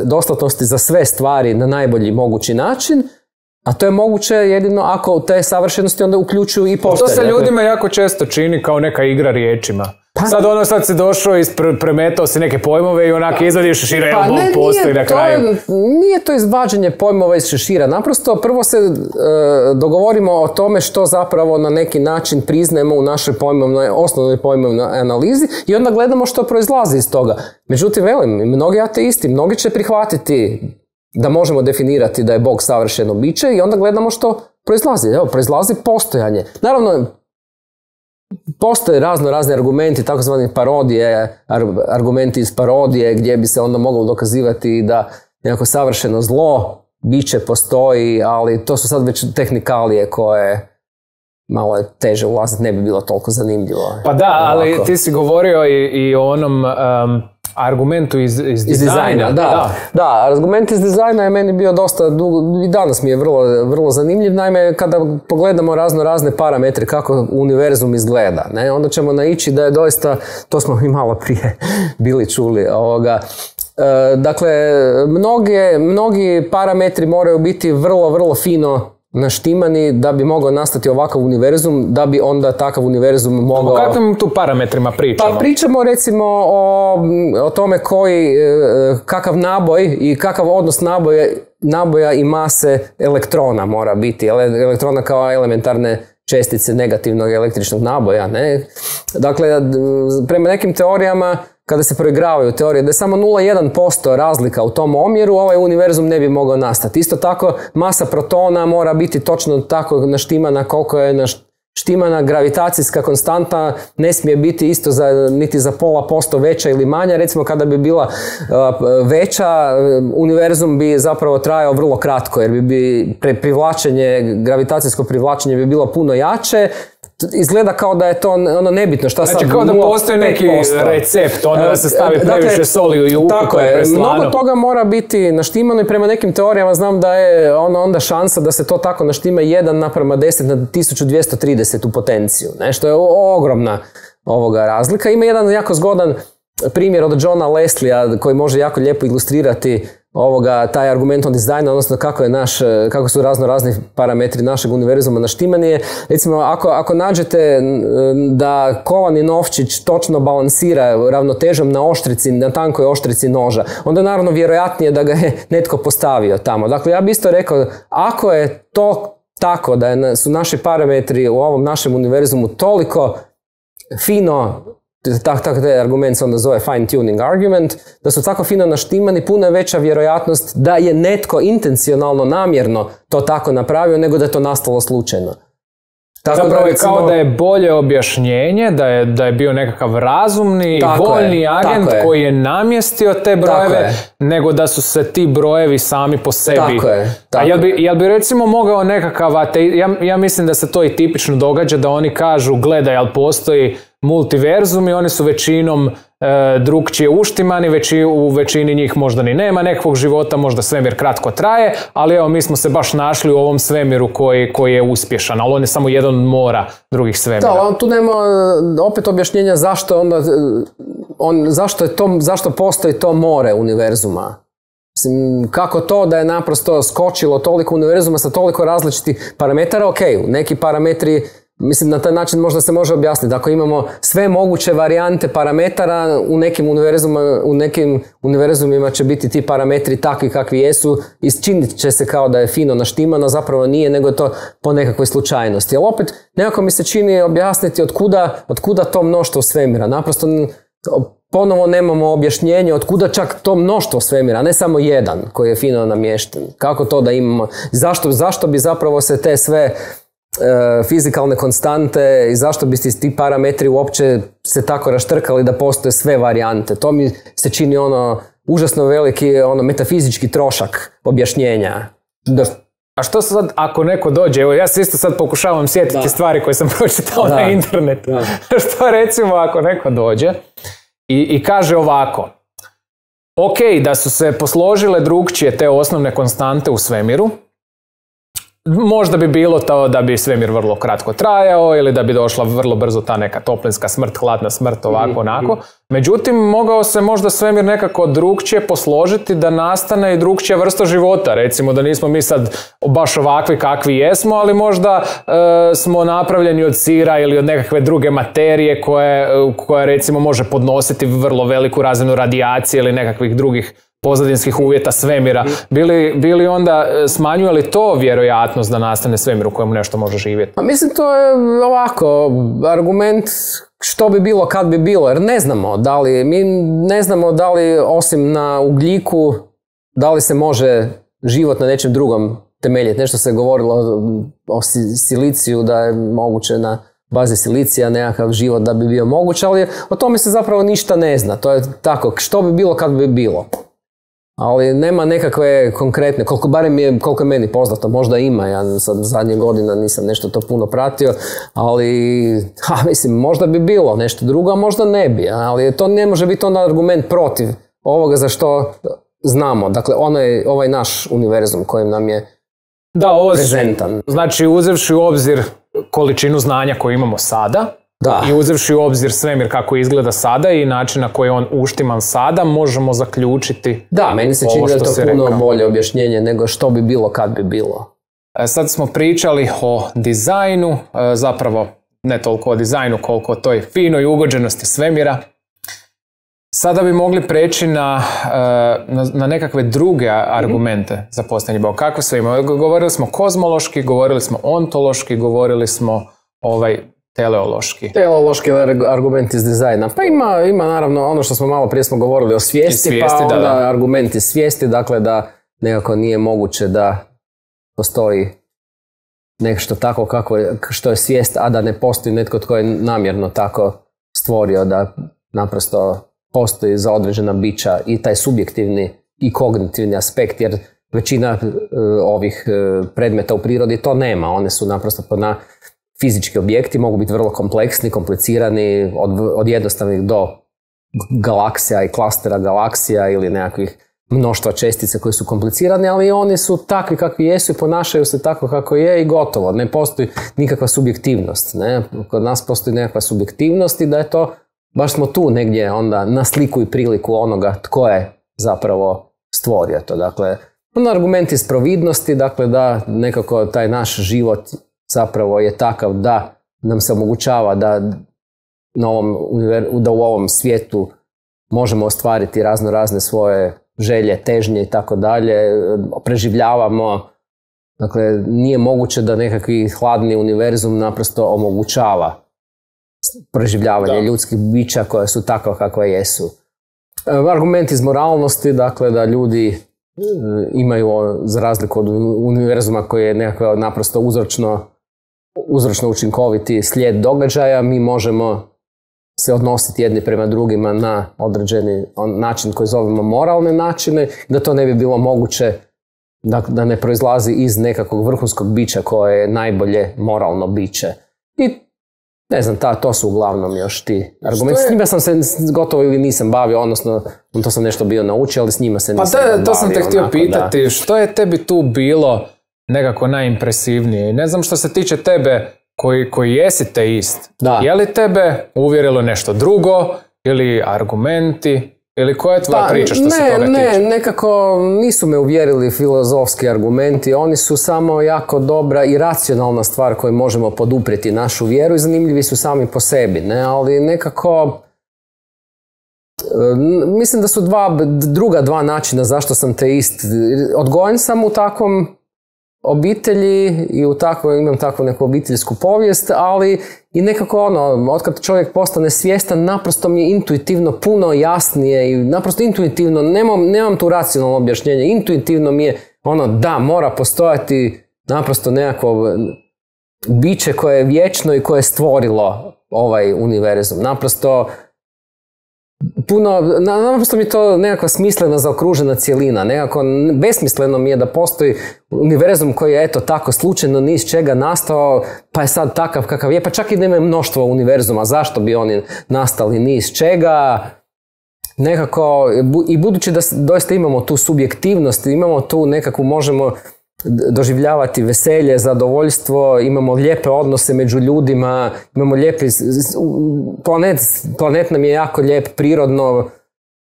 dostatnosti za sve stvari na najbolji mogući način, a to je moguće jedino ako te savršenosti onda uključuju i postojanje. To se ljudima jako često čini kao neka igra riječima. Sad se došao i premetao si neke pojmove i onak izvadiš šešira, evo Bog postoji na kraju. Nije to izvađanje pojmova iz šešira. Naprosto prvo se dogovorimo o tome što zapravo na neki način priznajemo u našoj osnovnoj pojmovnoj analizi i onda gledamo što proizlazi iz toga. Međutim, velim, mnogi ateisti, mnogi će prihvatiti da možemo definirati da je Bog savršeno biće i onda gledamo što proizlazi. Evo, proizlazi postojanje. Naravno, postoje razni argumenti, takozvani parodije, argumenti iz parodije gdje bi se onda moglo dokazivati da nekako savršeno zlo biće postoji, ali to su sad već tehnikalije koje malo je teže ulaziti, ne bi bilo toliko zanimljivo. Pa da, ali ti si govorio i o onom argumentu iz dizajna. Da, argument iz dizajna je meni bio dosta dugo, i danas mi je vrlo zanimljiv. Naime, kada pogledamo razne parametre kako univerzum izgleda, ne, onda ćemo naići da je doista, to smo i malo prije bili čuli, dakle, mnogi parametri moraju biti vrlo fino naštimani da bi mogao nastati ovakav univerzum, da bi onda takav univerzum mogao... O kakvim tu parametrima pričamo? Pa pričamo recimo o tome kakav naboj i kakav odnos naboja i mase elektrona mora biti. Elektrona kao elementarne čestice negativnog električnog naboja. Ne? Dakle, prema nekim teorijama, kada se proigravaju teorije, da je samo 0,1% razlika u tom omjeru, ovaj univerzum ne bi mogao nastati. Isto tako, masa protona mora biti točno tako naštimana koliko je naštimana gravitacijska konstanta, ne smije biti isto niti za 0,5% veća ili manja. Recimo, kada bi bila veća, univerzum bi zapravo trajao vrlo kratko, jer bi gravitacijsko privlačenje bi bilo puno jače. Izgleda kao da je to ono nebitno. Znači kao da postoji neki recept, da se stavi previše soli u juhu koje je preslano. Mnogo toga mora biti naštimano i prema nekim teorijama znam da je onda šansa da se to tako naštima 1:10 na 1230 u potenciju. Što je ogromna razlika. Ima jedan jako zgodan primjer od Johna Leslieja koji može jako lijepo ilustrirati taj argument o dizajnu, odnosno kako su razni parametri našeg univerzuma naštimani. Recimo, ako nađete da kovani novčić točno balansira ravnotežom na tankoj oštrici noža, onda je naravno vjerojatnije da ga je netko postavio tamo. Dakle, ja bih isto rekao, ako je to tako da su naši parametri u ovom našem univerzumu toliko fino, taj argument se onda zove fine tuning argument, da su tako fino naštimani, puno je veća vjerojatnost da je netko intencionalno, namjerno to tako napravio, nego da je to nastalo slučajno. Zapravo je kao da je bolje objašnjenje, da je bio nekakav razumni i voljni agent koji je namjestio te brojeve, nego da su se ti brojevi sami po sebi. A jel bi recimo mogao nekakav ja mislim da se to i tipično događa, da oni kažu, gledaj, jel postoji multiverzum i oni su većinom drukčije uštimani, u većini njih možda ni nema nekakvog života, možda svemir kratko traje, ali evo mi smo se baš našli u ovom svemiru koji je uspješan, ali on je samo jedan mora drugih svemira. Da, tu nema opet objašnjenja zašto postoji to more univerzuma. Mislim, kako to da je naprosto skočilo toliko univerzuma sa toliko različitih parametara, neki parametri, mislim, na taj način možda se može objasniti. Ako imamo sve moguće varijante parametara, u nekim univerzumima će biti ti parametri takvi kakvi jesu i činit će se kao da je fino naštimano, zapravo nije, nego je to po nekakvoj slučajnosti. Ali opet, nekako mi se čini objasniti otkuda to mnoštvo svemira. Naprosto, ponovo nemamo objašnjenje otkuda čak to mnoštvo svemira, a ne samo jedan koji je fino namješten. Kako to da imamo? Zašto bi zapravo se te sve fizikalne konstante i zašto bi ti parametri uopće se tako raštrkali da postoje sve varijante? To mi se čini užasno veliki metafizički trošak objašnjenja. A što sad ako neko dođe, evo ja se isto sad pokušavam sjetiti stvari koje sam pročitao na internetu. Što recimo ako neko dođe i kaže ovako, ok, da su se posložile drugčije te osnovne konstante u svemiru, možda bi bilo to da bi svemir vrlo kratko trajao ili da bi došla vrlo brzo ta neka toplinska smrt, hladna smrt, ovako, onako. Međutim, mogao se možda svemir nekako drugčije posložiti da nastane i drugčija vrsta života. Recimo da nismo mi sad baš ovakvi kakvi jesmo, ali možda smo napravljeni od sira ili od nekakve druge materije koja recimo može podnositi vrlo veliku razinu radijacije ili nekakvih drugih pozadinskih uvjeta svemira. Bili onda smanjuje li to vjerojatnost da nastane svemir u kojemu nešto može živjeti? Pa mislim, to je ovako argument što bi bilo kad bi bilo, jer mi ne znamo da li osim na ugljiku, da li se može život na nečem drugom temeljiti. Nešto se govorilo o siliciju, da je moguće na bazi silicija nekakav život da bi bio moguć, ali o tome se zapravo ništa ne zna. To je tako, što bi bilo kad bi bilo. Ali nema nekakve konkretne, koliko je meni poznato, možda ima, ja sad zadnje godina nisam nešto to puno pratio, ali mislim, možda bi bilo nešto drugo, a možda ne bi, ali to ne može biti onda argument protiv ovoga za što znamo, dakle ovaj naš univerzum kojim nam je prezentan. Znači, uzevši u obzir količinu znanja koju imamo sada, i uzevši u obzir svemir kako izgleda sada i način na koji je on uštiman sada, možemo zaključiti. Da, meni se čini da je to puno bolje objašnjenje nego što bi bilo kad bi bilo. Sad smo pričali o dizajnu, zapravo ne toliko o dizajnu koliko o toj finoj ugođenosti svemira. Sada bi mogli preći na nekakve druge argumente za postojanje Boga. Kako sve ima? Govorili smo kozmološki, govorili smo ontološki, govorili smo teleološki. Teleološki argument iz dizajna. Pa ima naravno ono što smo malo prije smo govorili o svijesti, pa onda argument iz svijesti, dakle da nekako nije moguće da postoji nešto tako što je svijest, a da ne postoji netko tko je namjerno tako stvorio da naprosto postoji za određena bića i taj subjektivni i kognitivni aspekt, jer većina ovih predmeta u prirodi to nema. One su naprosto fizički objekti, mogu biti vrlo kompleksni, komplicirani, od jednostavnih do galaksija i klastera galaksija ili nekakvih mnoštva čestica koji su komplicirani, ali oni su takvi kakvi jesu i ponašaju se tako kako je i gotovo. Ne postoji nikakva subjektivnost. Ne? Kod nas postoji nekakva subjektivnost i da je to, baš smo tu negdje onda na sliku i priliku onoga tko je zapravo stvorio to. Dakle, argument iz providnosti, dakle da nekako taj naš život zapravo je takav da nam se omogućava da u ovom svijetu možemo ostvariti razne svoje želje, težnje i tako dalje, preživljavamo. Dakle, nije moguće da nekakvi hladni univerzum naprosto omogućava preživljavanje ljudskih bića koja su takva kakva jesu. Argument iz moralnosti, dakle da ljudi imaju, za razliku od univerzuma koji je nekako naprosto uzročno učinkoviti slijed događaja, mi možemo se odnositi jedni prema drugima na određeni način koji zovemo moralne načine, da to ne bi bilo moguće da ne proizlazi iz nekakvog vrhunskog bića koje je najbolje moralno biće. I ne znam, to su uglavnom još ti argumenti. S njima sam se gotovo ili nisam bavio, odnosno to sam nešto bio naučio, ali s njima se nisam bavio. To sam te htio pitati, što je tebi tu bilo nekako najimpresivnije? Ne znam, što se tiče tebe koji jesi teist, je li tebe uvjerilo nešto drugo ili argumenti? Ili koja je tvoja priča što se toga tiče? Nekako nisu me uvjerili filozofski argumenti, oni su samo jako dobra i racionalna stvar koju možemo poduprijeti našu vjeru i zanimljivi su sami po sebi, ne? Ali nekako mislim da su druga dva načina zašto sam teist. Odgojen sam u takvom obitelji i imam takvu neku obiteljsku povijest, ali i nekako otkad čovjek postane svjestan, naprosto mi je intuitivno puno jasnije i naprosto intuitivno, nemam tu racionalno objašnjenje, intuitivno mi je da, mora postojati naprosto nekako biće koje je vječno i koje je stvorilo ovaj univerzum. Naprosto naprosto mi je to nekakva smislena zaokružena cjelina, nekako besmisleno mi je da postoji univerzum koji je tako slučajno ni iz čega nastao, pa je sad takav kakav je, pa čak i nema mnoštvo univerzuma, zašto bi oni nastali ni iz čega, nekako, i budući da doista imamo tu subjektivnost, imamo tu nekakvu, možemo doživljavati veselje, zadovoljstvo, imamo lijepe odnose među ljudima, imamo lijepi, planet nam je jako lijep, prirodno,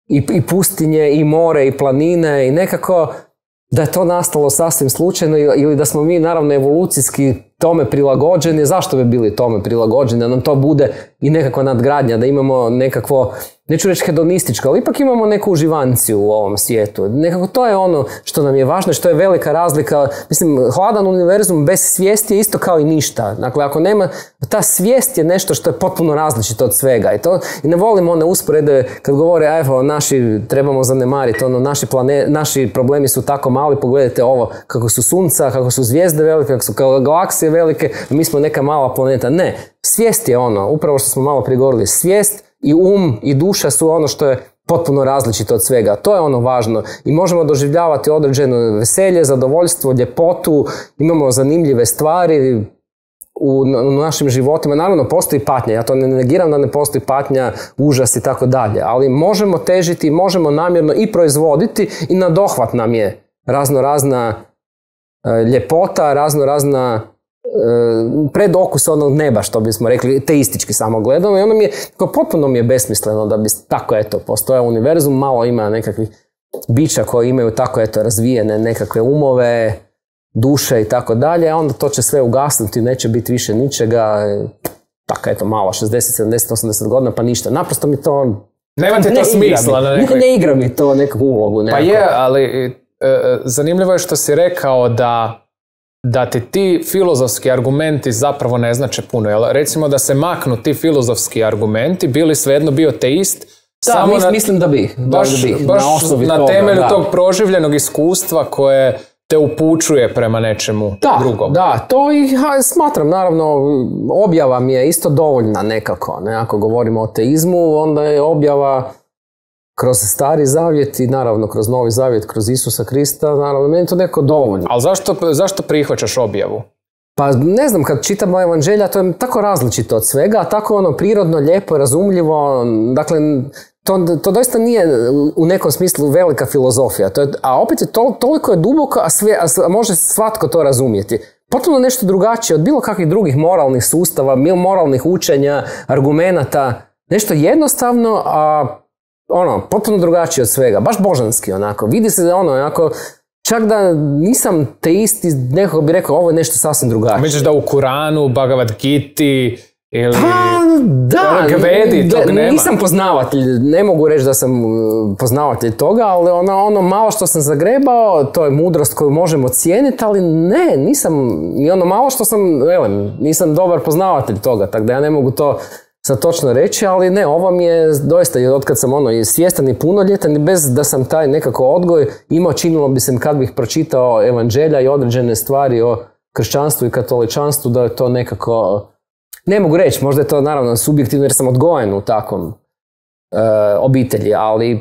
i pustinje, i more, i planine, i nekako da je to nastalo sasvim slučajno ili da smo mi naravno evolucijski tome prilagođeni. Zašto bi bili tome prilagođeni? Da nam to bude i nekakva nadgradnja, da imamo nekakvo, neću reći hedonističko, ali ipak imamo neku uživanciju u ovom svijetu. Nekako to je ono što nam je važno, što je velika razlika. Mislim, hladan univerzum bez svijesti je isto kao i ništa. Dakle, ako nema, ta svijest je nešto što je potpuno različito od svega. I ne volim one usporede kad govore, evo, naši trebamo zanemariti, naši problemi su tako mali, pogledajte ovo, kako su sunca, kako su zvijezde velike, kako su galaksije velike, mi smo neka mala planeta. Ne, svijest je ono, upravo što smo malo prije govorili, svijest i i duša su ono što je potpuno različito od svega. To je ono važno. I možemo doživljavati određeno veselje, zadovoljstvo, ljepotu, imamo zanimljive stvari u našim životima. Naravno, postoji patnja. Ja to ne negiram da ne postoji patnja, užas i tako dalje. Ali možemo težiti, možemo namjerno i proizvoditi i na dohvat nam je razna ljepota, razna predokus onog neba, što bismo rekli, teistički samo gledano, i ono mi je, potpuno mi je besmisleno da bi tako, postoje univerzum, malo ima nekakvih bića koji imaju tako, razvijene nekakve umove, duše i tako dalje, a onda to će sve ugasnuti, neće biti više ničega, tako, malo, 60, 70, 80 godina, pa ništa, naprosto mi to... Nema ti to smisla. Ne igra mi to nekakvu ulogu. Pa je, ali zanimljivo je što si rekao da ti filozofski argumenti zapravo ne znače puno. Jel? Recimo da se maknu ti filozofski argumenti, bili svejedno bio teist, da, mislim da bi. Baš na temelju tog proživljenog iskustva koje te upućuje prema nečemu drugom. Da, to i smatram, naravno, objava mi je isto dovoljna nekako. Ne? Ako govorimo o teizmu, onda je objava kroz Stari Zavjet i naravno kroz Novi Zavjet, kroz Isusa Krista, naravno, meni je to neko dovoljno. Ali zašto prihvaćaš objavu? Pa ne znam, kad čitamo evanđelja, to je tako različito od svega, tako ono prirodno, lijepo, razumljivo, dakle, to doista nije u nekom smislu velika filozofija, a opet je toliko je duboko, a može svatko to razumjeti. Potpuno nešto drugačije od bilo kakvih drugih moralnih sustava, moralnih učenja, argumenata, nešto jednostavno, a potpuno drugačije od svega, baš božanski onako, vidi se da onako, čak da nisam teist, nekako bi rekao ovo je nešto sasvim drugačije. Misliš da u Kuranu, Bhagavad Giti ili Gvedi tog nema? Nisam poznavatelj, ne mogu reći da sam poznavatelj toga, ali ono malo što sam zagrebao, to je mudrost koju možemo cijeniti, ali ne, nisam, ni ono malo što sam, nisam dobar poznavatelj toga, tako da ja ne mogu to sad točno reći, ali ne, ovo mi je doista, otkad sam i svjestan i punoljetan i bez da sam taj nekako odgoj imao, činilo bi se kad bih pročitao evanđelja i određene stvari o kršćanstvu i katoličanstvu, da je to nekako, ne mogu reći, možda je to naravno subjektivno jer sam odgojen u takvom obitelji, ali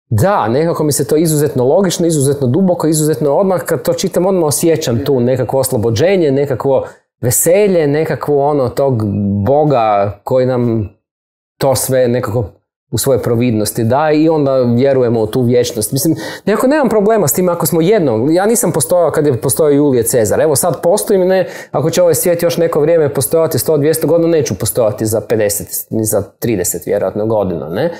da, nekako mi se to izuzetno logično, izuzetno duboko, izuzetno odmah, kad to čitam odmah osjećam tu nekakvo oslobođenje, nekakvo veselje, nekakvo tog Boga koji nam to sve nekako u svojoj providnosti daje i onda vjerujemo u tu vječnost. Mislim, nekako nemam problema s tim ako smo jedno. Ja nisam postojao kad je postojao Julije Cezar. Evo sad postojim, ne, ako će ovaj svijet još neko vrijeme postojati 100-200 godina, neću postojati za 50, ni za 30 vjerojatno godina, ne?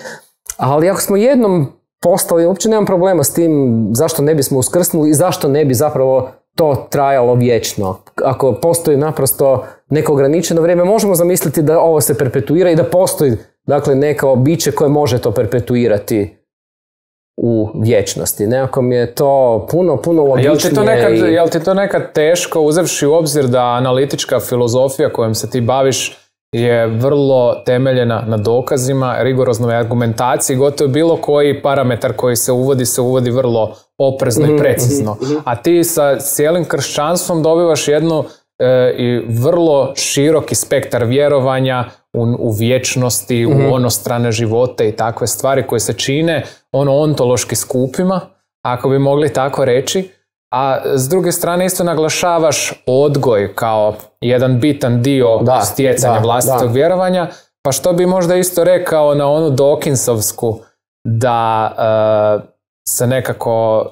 Ali ako smo jednom postali, uopće nemam problema s tim zašto ne bismo uskrsnuli i zašto ne bi zapravo to trajalo vječno. Ako postoji naprosto neko ograničeno vrijeme, možemo zamisliti da ovo se perpetuira i da postoji, dakle, neko biće koje može to perpetuirati u vječnosti. Nekako mi je to puno logičnije. Jel ti to nekad teško, uzevši u obzir da analitička filozofija kojom se ti baviš je vrlo temeljena na dokazima, rigoroznoj argumentaciji, gotovo bilo koji parametar koji se uvodi vrlo oprezno i precizno. A ti sa cijelim kršćanstvom dobivaš jednu i vrlo široki spektar vjerovanja u vječnosti, u onostrane živote i takve stvari koje se čine ontološki skupima, ako bi mogli tako reći. A s druge strane isto naglašavaš odgoj kao jedan bitan dio stjecanja vlastitog vjerovanja, pa što bi možda isto rekao na onu Dawkinsovsku da se nekako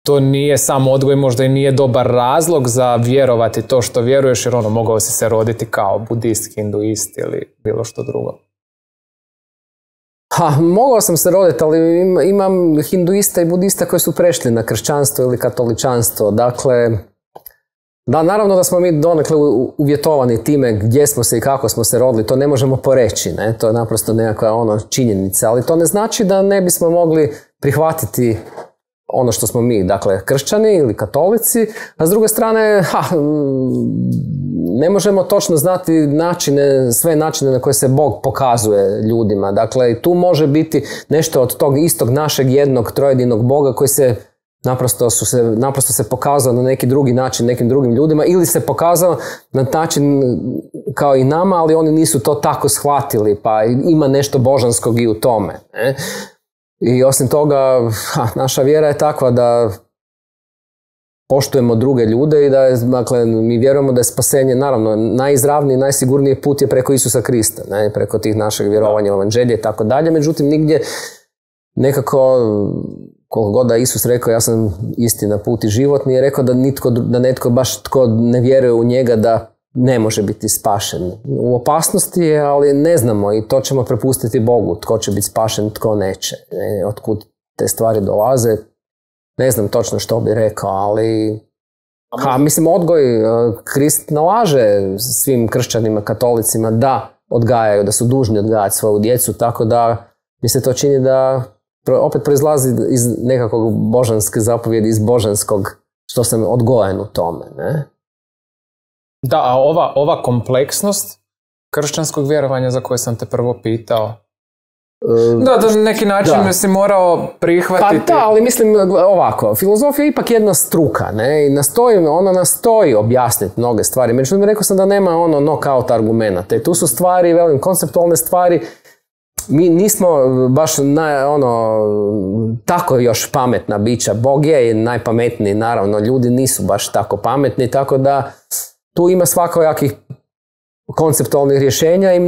to nije samo odgoj, možda i nije dobar razlog za vjerovati to što vjeruješ, jer mogao si se roditi kao budist, hinduist ili bilo što drugo. Mogao sam se roditi, ali imam hinduista i budista koji su prešli na kršćanstvo ili katoličanstvo. Dakle, da, naravno da smo mi donekle uvjetovani time gdje smo se i kako smo se rodili, to ne možemo poreći, ne? To je naprosto nekakva činjenica, ali to ne znači da ne bismo mogli prihvatiti ono što smo mi, dakle, kršćani ili katolici, a s druge strane, ne možemo točno znati sve načine na koje se Bog pokazuje ljudima. Dakle, tu može biti nešto od tog istog našeg jednog trojedinog Boga koji se naprosto se pokazao na neki drugi način nekim drugim ljudima ili se pokazao na način kao i nama, ali oni nisu to tako shvatili, pa ima nešto božanskog i u tome. Ne? I osim toga, naša vjera je takva da poštujemo druge ljude i da dakle, mi vjerujemo da je spasenje, naravno, najizravniji, najsigurniji put je preko Isusa Krista, ne? Preko tih našeg vjerovanja u evanđelje i tako dalje. Međutim, nigdje nekako, koliko god da Isus rekao ja sam istina, put i život, nije rekao da netko baš tko ne vjeruje u njega da ne može biti spašen. U opasnosti je, ali ne znamo i to ćemo prepustiti Bogu. Tko će biti spašen, tko neće. Otkud te stvari dolaze, ne znam točno što bi rekao, ali mislim odgoj, Krist nalaže svim kršćanima, katolicima da odgajaju, da su dužni odgajati svoju djecu, tako da mi se to čini da opet proizlazi iz nekakvog božanske zapovjedi, iz božanskog što sam odgojen u tome, ne? Da, a ova kompleksnost kršćanskog vjerovanja za koje sam te prvo pitao, da na neki način si morao prihvatiti. Pa da, ali mislim ovako, filozofija je ipak jedna struka, ne, i ona nastoji objasniti mnoge stvari, međutim rekao sam da nema knockout argumenata i tu su stvari, velim, konceptualne stvari. Mi nismo baš tako još pametna bića. Bog je najpametniji, naravno, ljudi nisu baš tako pametni, tako da tu ima svakojakih konceptualnih rješenja i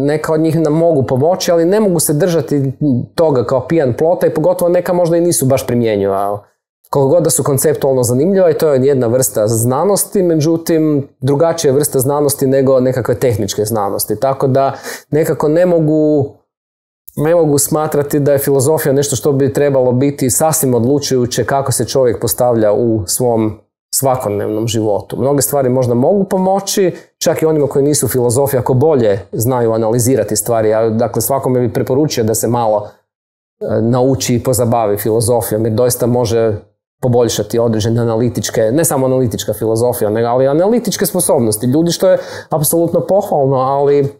neka od njih nam mogu pomoći, ali ne mogu se držati toga kao pijan plota i pogotovo neka možda i nisu baš primjenjiva. Koliko god da su konceptualno zanimljiva i to je jedna vrsta znanosti, međutim drugačija vrsta znanosti nego nekakve tehničke znanosti. Tako da nekako ne mogu smatrati da je filozofija nešto što bi trebalo biti sasvim odlučujuće kako se čovjek postavlja u svom svakodnevnom životu. Mnoge stvari možda mogu pomoći, čak i onima koji nisu filozofi, ako bolje znaju analizirati stvari. Ja, dakle, svakome bi preporučio da se malo nauči i pozabavi filozofijom, jer doista može poboljšati određene analitičke, ne samo analitička filozofija, ali analitičke sposobnosti ljudi, što je apsolutno pohvalno, ali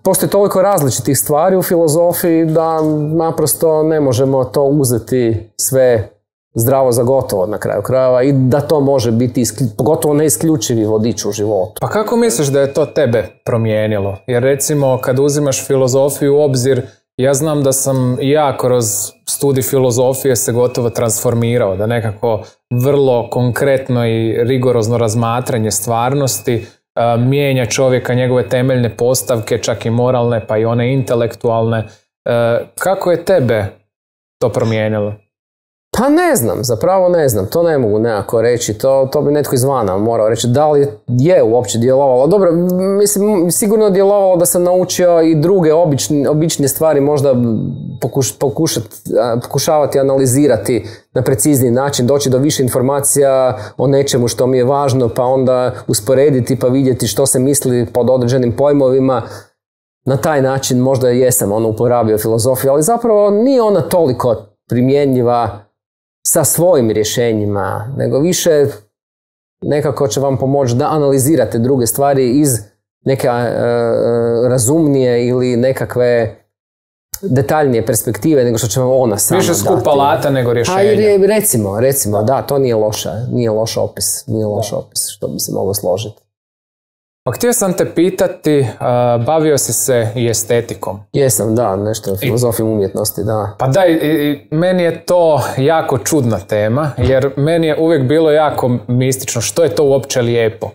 postoji toliko različitih stvari u filozofiji da naprosto ne možemo to uzeti sve zdravo za gotovo na kraju krajeva i da to može biti pogotovo neisključivi vodič u životu. Pa kako misliš da je to tebe promijenilo? Jer recimo kad uzimaš filozofiju u obzir, ja znam da sam ja kroz studij filozofije se gotovo transformirao, da nekako vrlo konkretno i rigorozno razmatranje stvarnosti mijenja čovjeka, njegove temeljne postavke, čak i moralne, pa i one intelektualne. Kako je tebe to promijenilo? Pa ne znam, zapravo ne znam, to ne mogu nekako reći, to bi netko izvana morao reći, da li je uopće djelovalo. Dobro, mislim, sigurno je djelovalo da sam naučio i druge obične stvari možda pokušavati analizirati na precizniji način, doći do više informacija o nečemu što mi je važno, pa onda usporediti pa vidjeti što se misli pod određenim pojmovima. Na taj način možda jesam uporabio filozofiju, ali zapravo nije ona toliko primjenjiva sa svojim rješenjima, nego više nekako će vam pomoći da analizirate druge stvari iz neke razumnije ili nekakve detaljnije perspektive nego što će vam ona sama dati. Više skup alata nego rješenja. Recimo, da, to nije loš opis, što bi se moglo složiti. Pa htio sam te pitati, bavio si se i estetikom. Jesam, da, nešto filozofijom umjetnosti, da. Pa da, meni je to jako čudna tema, jer meni je uvijek bilo jako mistično što je to uopće lijepo.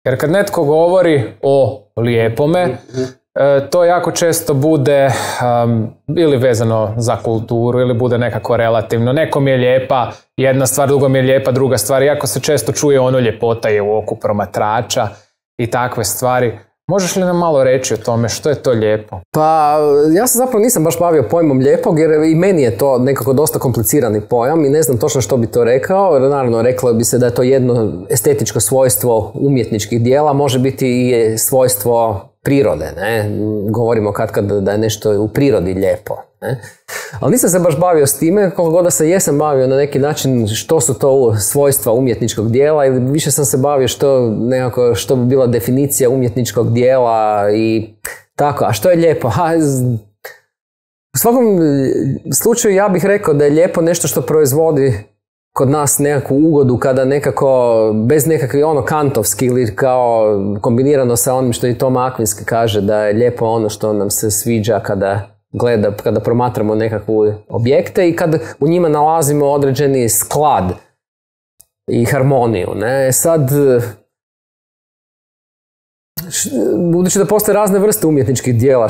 Jer kad netko govori o lijepome, to jako često bude ili vezano za kulturu ili bude nekako relativno. Nekom je lijepa jedna stvar, drugom je lijepa druga stvar. Jako se često čuje ono ljepota je u oku promatrača i takve stvari. Možeš li nam malo reći o tome što je to lijepo? Pa ja se zapravo nisam baš bavio pojmom lijepog jer i meni je to nekako dosta komplicirani pojam i ne znam točno što bi to rekao. Jer naravno reklo bi se da je to jedno estetičko svojstvo umjetničkih dijela, može biti i svojstvo prirode. Ne? Govorimo kad da je nešto u prirodi lijepo. Ne? Ali nisam se baš bavio s time, koliko god da se jesam bavio na neki način što su to svojstva umjetničkog dijela ili više sam se bavio što bi bila definicija umjetničkog dijela i tako. A što je lijepo? U svakom slučaju ja bih rekao da je lijepo nešto što proizvodi kod nas nekakvu ugodu kada nekako, bez nekakvi kantovski ili kao kombinirano sa onim što i Tom Akvinski kaže da je lijepo ono što nam se sviđa kada promatramo nekakvu objekte i kad u njima nalazimo određeni sklad i harmoniju. Ne? Sad, budući da postoje razne vrste umjetničkih dijela,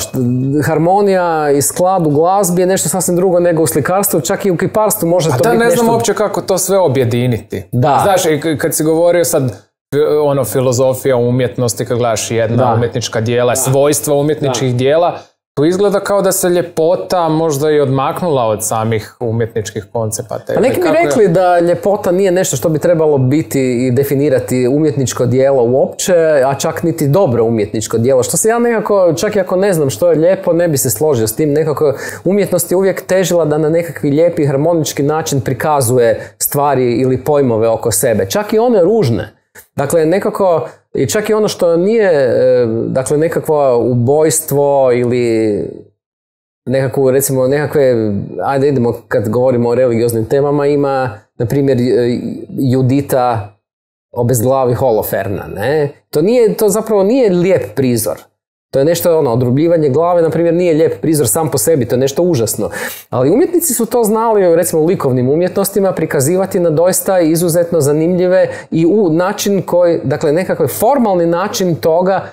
harmonija i sklad u glazbi je nešto sasvim drugo nego u slikarstvu, čak i u kiparstvu može to biti nešto... A ne znam uopće kako to sve objediniti. Da. Znaš, kad si govorio sad filozofija umjetnosti, kad gledaš jedna umjetnička dijela, svojstva umjetničkih dijela, tu izgleda kao da se ljepota možda i odmaknula od samih umjetničkih koncepata. A neki mi rekli da ljepota nije nešto što bi trebalo biti i definirati umjetničko djelo uopće, a čak niti dobro umjetničko djelo. Što se ja nekako, čak i ako ne znam što je lijepo, ne bi se složio s tim. Nekako umjetnost je uvijek težila da na nekakvi lijepi harmonički način prikazuje stvari ili pojmove oko sebe. Čak i one ružne. Dakle, nekako, i čak i ono što nije, dakle, nekakvo ubojstvo ili nekakvu, recimo, ajde idemo kad govorimo o religioznim temama, ima, na primjer, Judita obezglavi Holoferna, ne? To zapravo nije lijep prizor. To je nešto, odrubljivanje glave, na primjer, nije lijep prizor sam po sebi, to je nešto užasno. Ali umjetnici su to znali, recimo u likovnim umjetnostima, prikazivati na doista izuzetno zanimljive i u način koji, dakle, nekakav formalni način toga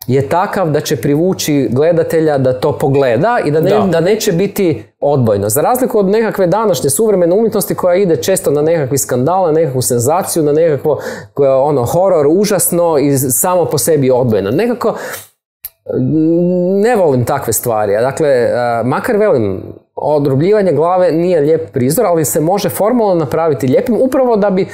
je takav da će privući gledatelja da to pogleda i da neće biti odbojno. Za razliku od nekakve današnje suvremene umjetnosti koja ide često na nekakvi skandal, na nekakvu senzaciju, na nekakvo horor, užasno i samo po sebi odbojno. Nekako ne volim takve stvari. Dakle, makar velim, odrubljivanje glave nije lijep prizor, ali se može formalno napraviti lijepim upravo da bi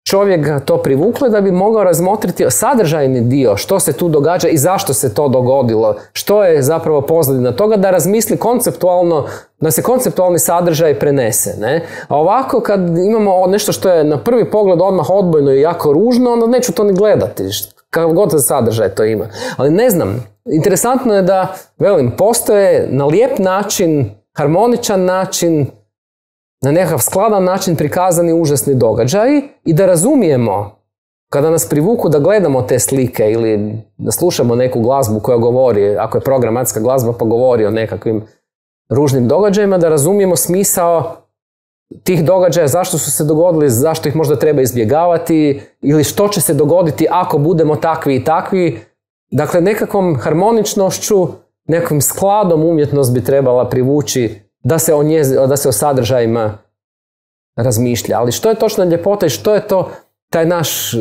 čovjek to privuklo, da bi mogao razmotriti sadržajni dio, što se tu događa i zašto se to dogodilo, što je zapravo pozadina toga, da razmisli konceptualno, da se konceptualni sadržaj prenese. Ne? A ovako, kad imamo nešto što je na prvi pogled odmah odbojno i jako ružno, onda neću to ni gledati. Kakav god sadržaj to ima. Ali ne znam, interesantno je da, velim, postoje na lijep način, harmoničan način, na nekakav skladan način prikazani užasni događaji i da razumijemo, kada nas privuku da gledamo te slike ili da slušamo neku glazbu koja govori, ako je programatska glazba pa govori o nekakvim ružnim događajima, da razumijemo smisao tih događaja, zašto su se dogodili, zašto ih možda treba izbjegavati ili što će se dogoditi ako budemo takvi i takvi. Dakle, nekakvom harmoničnošću, nekakvim skladom umjetnost bi trebala privući da se o sadržajima razmišlja. Ali što je točno ljepota i što je to taj naš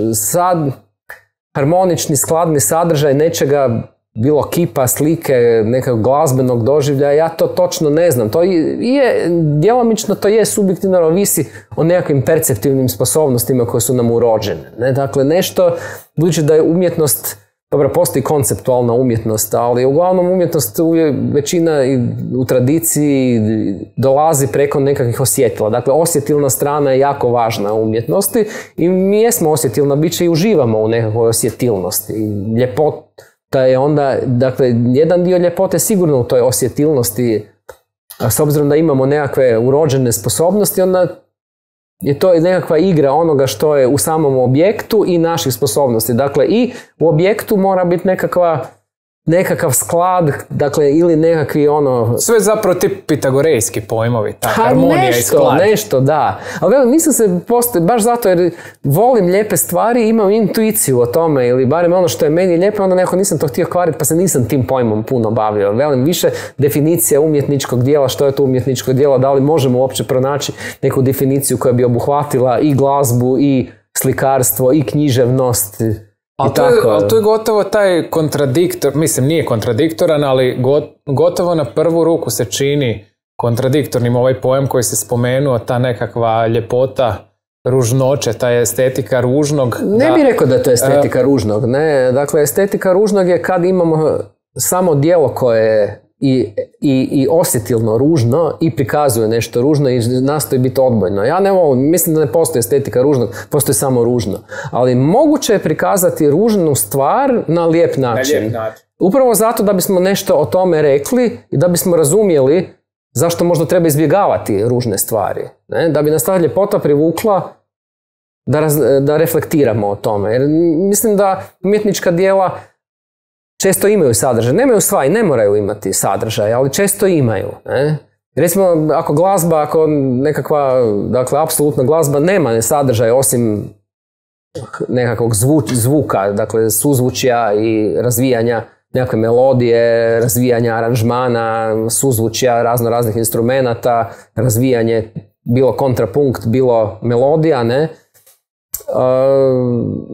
harmonični, skladni sadržaj nečega, bilo kipa, slike, nekog glazbenog doživljaja, ja to točno ne znam. To je, djelomično to je subjektivno, ovisi o nekakvim perceptivnim sposobnostima koje su nam urođene. Ne? Dakle, nešto, budući da je umjetnost, dobro, postoji konceptualna umjetnost, ali uglavnom umjetnost većina u tradiciji dolazi preko nekakvih osjetila. Dakle, osjetilna strana je jako važna u umjetnosti i mi jesmo osjetilna bića i uživamo u nekakvoj osjetilnosti. Ljepota je onda, dakle, jedan dio ljepote sigurno u toj osjetilnosti, a s obzirom da imamo nekakve urođene sposobnosti, onda je to nekakva igra onoga što je u samom objektu i naših sposobnosti. Dakle, i u objektu mora biti nekakva nekakav sklad, dakle, ili nekakvi ono... Sve zapravo ti pitagorejski pojmovi, ta harmonija i sklad. Nešto, da. Ali velim, mislim se postoji, baš zato jer volim lijepe stvari, imam intuiciju o tome, ili barem ono što je meni lijepo, onda neko nisam to htio kvariti, pa se nisam tim pojmom puno bavio. Velim, više definicija umjetničkog dijela, što je to umjetničko djelo, da li možemo uopće pronaći neku definiciju koja bi obuhvatila i glazbu, i slikarstvo, i književnost. Ali to je gotovo taj kontradiktor, mislim nije kontradiktoran, ali gotovo na prvu ruku se čini kontradiktornim ovaj pojam koji se spomenuo, ta nekakva ljepota ružnoće, ta estetika ružnog. Ne bih rekao da je to estetika ružnog, ne. Dakle, estetika ružnog je kad imamo samo djelo koje je i osjetilno ružno i prikazuje nešto ružno i nastoji biti odbojno. Ja ne volim, mislim da ne postoji estetika ružnog, postoji samo ružno. Ali moguće je prikazati ružnu stvar na lijep način. Upravo zato da bismo nešto o tome rekli i da bismo razumjeli zašto možda treba izbjegavati ružne stvari. Ne? Da bi nas ta ljepota privukla da reflektiramo o tome. Jer mislim da umjetnička djela često imaju sadržaj. Nemaju sva i ne moraju imati sadržaj, ali često imaju. Ne? Recimo, ako glazba, ako nekakva, dakle, apsolutna glazba nema sadržaj osim nekakvog zvuka, dakle, suzvučja i razvijanja nekakve melodije, razvijanja aranžmana, suzvučja raznih instrumenata, razvijanje bilo kontrapunkt, bilo melodija, ne?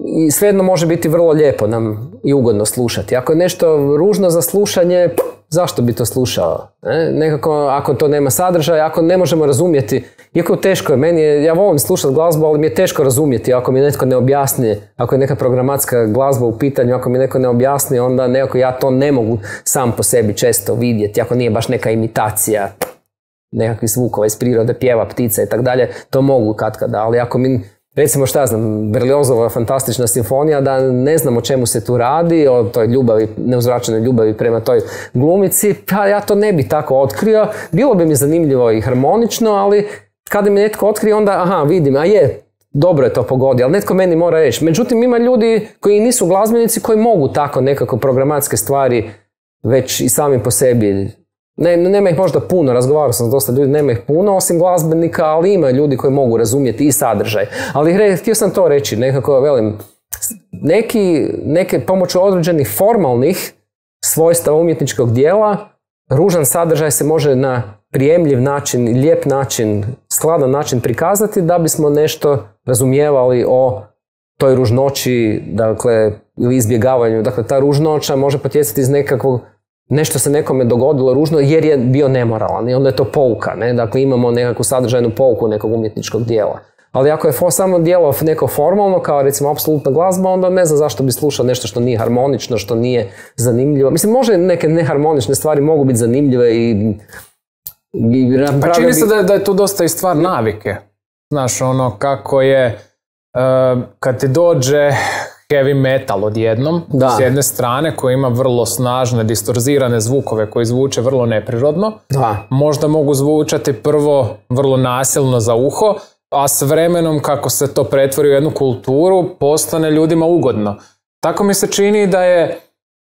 I svejedno može biti vrlo lijepo nam i ugodno slušati. Ako je nešto ružno za slušanje, zašto bi to slušao? Nekako, ako to nema sadržaja, ako ne možemo razumjeti, iako teško je, ja volim slušati glazbu, ali mi je teško razumjeti ako mi netko ne objasni, ako je neka programatska glazba u pitanju, ako mi netko ne objasni, onda nekako ja to ne mogu sam po sebi često vidjeti, ako nije baš neka imitacija nekakvih zvukova iz prirode, pjeva, ptica i tako dalje, to mogu katkada, ali ako mi recimo, šta znam, Berliozova fantastična simfonija, da ne znam o čemu se tu radi, o toj ljubavi, neuzvraćenoj ljubavi prema toj glumici, pa ja to ne bi tako otkrio. Bilo bi mi zanimljivo i harmonično, ali kada mi netko otkrije, onda, vidim, dobro je to pogodio, ali netko meni mora reći. Međutim, ima ljudi koji nisu glazbenici, koji mogu tako nekako programatske stvari već i sami po sebi. Nema ih možda puno, razgovarao sam s dosta ljudi, nema ih puno osim glazbenika, ali ima ljudi koji mogu razumjeti i sadržaj. Ali htio sam to reći, nekako velim, neke pomoću određenih formalnih svojstava umjetničkog dijela, ružan sadržaj se može na prijemljiv način, lijep način, skladan način prikazati da bismo nešto razumijevali o toj ružnoći, dakle, ili izbjegavanju. Dakle, ta ružnoća može potjecati iz nekakvog nešto se nekome dogodilo ružno jer je bio nemoralan i onda je to pouka, ne? Dakle, imamo nekakvu sadržajnu pouku nekog umjetničkog dijela. Ali ako je samo dijelo neko formalno, kao recimo apsolutna glazba, onda ne znam zašto bi slušao nešto što nije harmonično, što nije zanimljivo. Mislim, može neke neharmonične stvari mogu biti zanimljive i pa čini se da je tu dosta i stvar navike. Znaš, ono kako je kad ti dođe heavy metal odjednom, s jedne strane, koji ima vrlo snažne, distorzirane zvukove koji zvuče vrlo neprirodno. Možda mogu zvučati prvo vrlo nasilno za uho, a s vremenom kako se to pretvori u jednu kulturu, postane ljudima ugodno. Tako mi se čini da je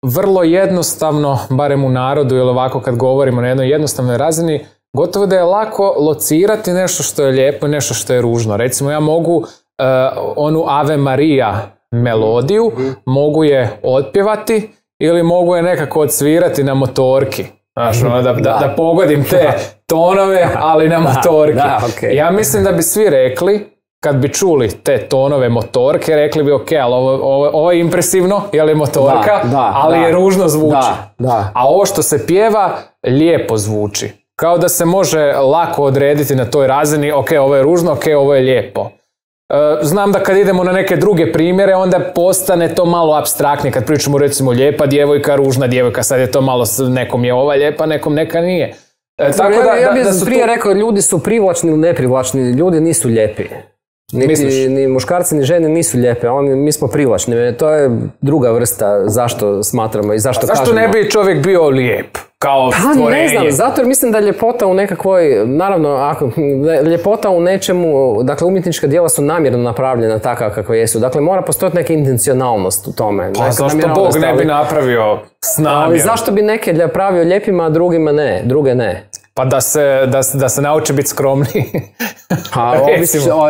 vrlo jednostavno, barem u narodu ili ovako kad govorimo na jednoj jednostavnoj razini, gotovo da je lako locirati nešto što je lijepo i nešto što je ružno. Recimo, ja mogu onu Ave Maria melodiju, mogu je otpjevati ili mogu je nekako odsvirati na motorki. Znaš, da pogodim te tonove, ali na motorki. Ja mislim da bi svi rekli, kad bi čuli te tonove motorke, rekli bi ok, ali ovo je impresivno, jer je motorka, ali je ružno zvuči. A ovo što se pjeva, lijepo zvuči. Kao da se može lako odrediti na toj razini, ok, ovo je ružno, ok, ovo je lijepo. Znam da kad idemo na neke druge primjere, onda postane to malo apstraktnije. Kad pričamo recimo lijepa djevojka, ružna djevojka, sad je to malo, nekom je ova lijepa, nekom neka nije. Ja bih prije rekao, ljudi su privlačni ili neprivlačni, ljudi nisu lijepi. Ni muškarci ni žene nisu lijepe, mi smo privlačni. To je druga vrsta zašto smatramo i zašto kažemo. Zašto ne bi čovjek bio lijep? kao stvorenje. Ne znam, zato jer mislim da je ljepota u nekakvoj, naravno, ljepota u nečemu, dakle umjetnička djela su namjerno napravljena takva kakva jesu. Dakle, mora postojati neka intencionalnost u tome. Pa zašto Bog ne bi napravio s namjerom? Ali zašto bi neke napravio lijepima, a druge ne? Pa da se nauče biti skromni.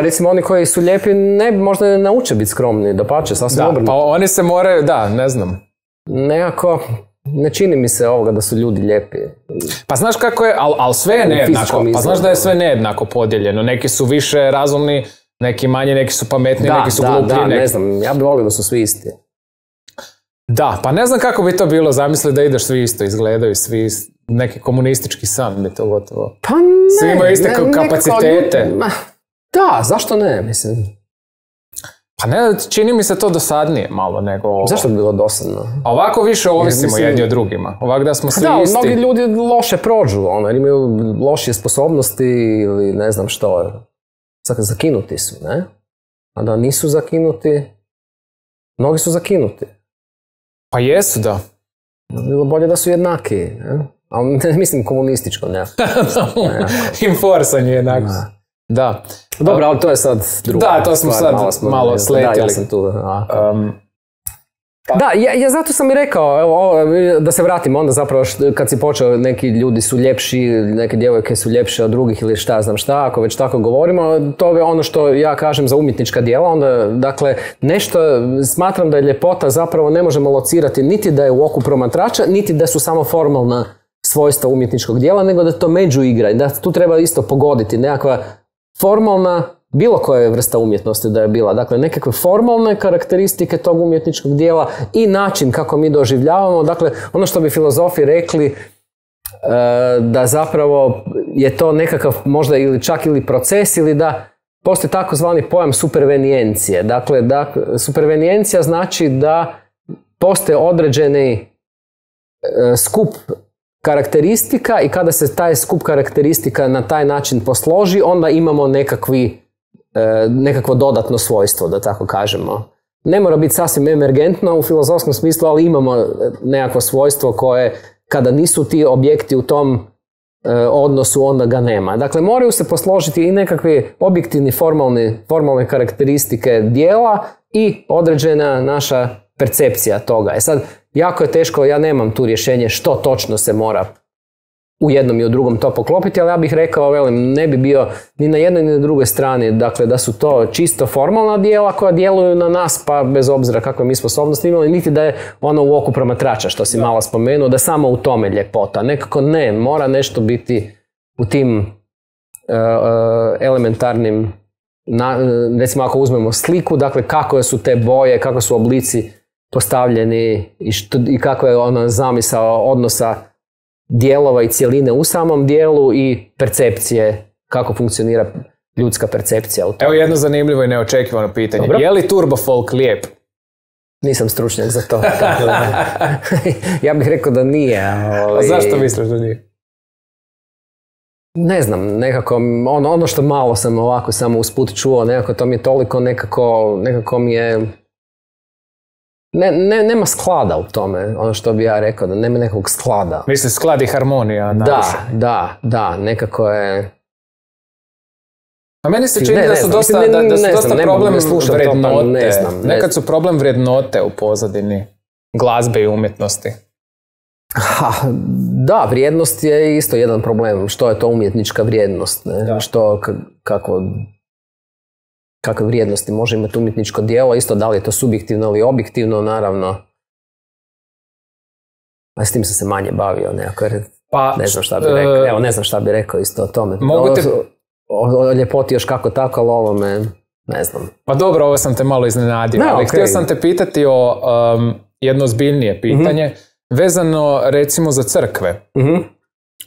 Recimo oni koji su lijepi možda ne nauče biti skromni, dapače, sasvim obrnuto. Pa oni se moraju, ne znam. Nekako, ne čini mi se ovoga da su ljudi lijepi. Pa znaš kako je, ali sve je nejednako. Pa znaš da je sve nejednako podijeljeno. Neki su više razumni, neki manje, neki su pametni, neki su gluplji. Da, ne znam, ja bih volio da su svi isti. Da, pa ne znam kako bi to bilo, zamisli da ideš svi isto, izgledaju svi neki komunistički san bi to gotovo. Pa ne. Svi imaju iste kapacitete. Da, zašto ne, mislim. Pa ne, čini mi se to dosadnije malo nego ovo. Zašto bi bilo dosadno? A ovako više ovisimo jedni od drugima. Ovako da smo svi isti. Da, mnogi ljudi loše prođu, jer imaju lošije sposobnosti ili ne znam što. Zakinuti su, ne? A da nisu zakinuti, mnogi su zakinuti. Pa jesu, da. Bilo bolje da su jednaki, ne? Ali ne mislim komunističko, ne. Inforsanje jednakost. Da. Dobro, ali to je sad drugo. Da, to smo sad malo sletjeli. Da, ja sam tu. Da, ja zato sam i rekao, da se vratim onda zapravo kad si počeo, neki ljudi su ljepši, neke djevojke su ljepše od drugih ili šta znam šta, ako već tako govorimo, to je ono što ja kažem za umjetnička djela, onda, dakle, nešto, smatram da je ljepota zapravo ne možemo locirati niti da je u oku promatrača, niti da su samo formalna svojstva umjetničkog djela, nego da to međuigra i da tu treba isto pogoditi nekakva formalna, bilo koja vrsta umjetnosti da je bila. Dakle, nekakve formalne karakteristike tog umjetničkog dijela i način kako mi doživljavamo. Dakle, ono što bi filozofi rekli da zapravo je to nekakav možda ili čak ili proces ili da postoji takozvani pojam supervenijencije. Dakle, supervenijencija znači da postoje određeni skup karakteristika i kada se taj skup karakteristika na taj način posloži, onda imamo nekakvo dodatno svojstvo, da tako kažemo. Ne mora biti sasvim emergentno u filozofskom smislu, ali imamo nekakvo svojstvo koje, kada nisu ti objekti u tom odnosu, onda ga nema. Dakle, moraju se posložiti i nekakvi objektivni formalne karakteristike dijela i određena naša percepcija toga. Sad, jako je teško, ja nemam tu rješenje što točno se mora u jednom i u drugom to poklopiti, ali ja bih rekao, ne bi bio ni na jednoj ni na drugoj strani, dakle da su to čisto formalna djela koja djeluju na nas, pa bez obzira kakve mi sposobnosti imali, niti da je ono u oku promatrača, što si malo spomenuo, da samo u tome ljepota. Nekako ne, mora nešto biti u tim elementarnim, recimo ako uzmemo sliku, dakle kako su te boje, kako su oblici postavljeni i kako je ona zamisao odnosa dijelova i cjeline u samom dijelu i percepcije, kako funkcionira ljudska percepcija u tome. Evo jedno zanimljivo i neočekivano pitanje. Dobro. Je li turbo folk lijep? Nisam stručnjak za to. Ja bih rekao da nije. A zašto misliš da nije? Ne znam, nekako ono što malo sam ovako samo usput čuo, nekako to mi je toliko nekako mi je... Nema sklada u tome, ono što bi ja rekao, da nema nekog sklada. Misliš sklad i harmonija? Da, nekako je... A meni se čini da su dosta problem vrednote. Nekad su problem vrednote u pozadini glazbe i umjetnosti. Da, vrijednost je isto jedan problem. Što je to umjetnička vrijednost? Kakve vrijednosti može imati umjetničko djelo, isto da li je to subjektivno ili objektivno, naravno. A s tim sam se manje bavio nekako, ne znam šta bi rekao. Evo, ne znam šta bi rekao isto o tome. O ljepoti još kako tako, ali ovo me, ne znam. Pa dobro, ovo sam te malo iznenadio, ali htio sam te pitati o jedno ozbiljnije pitanje, vezano recimo za crkve.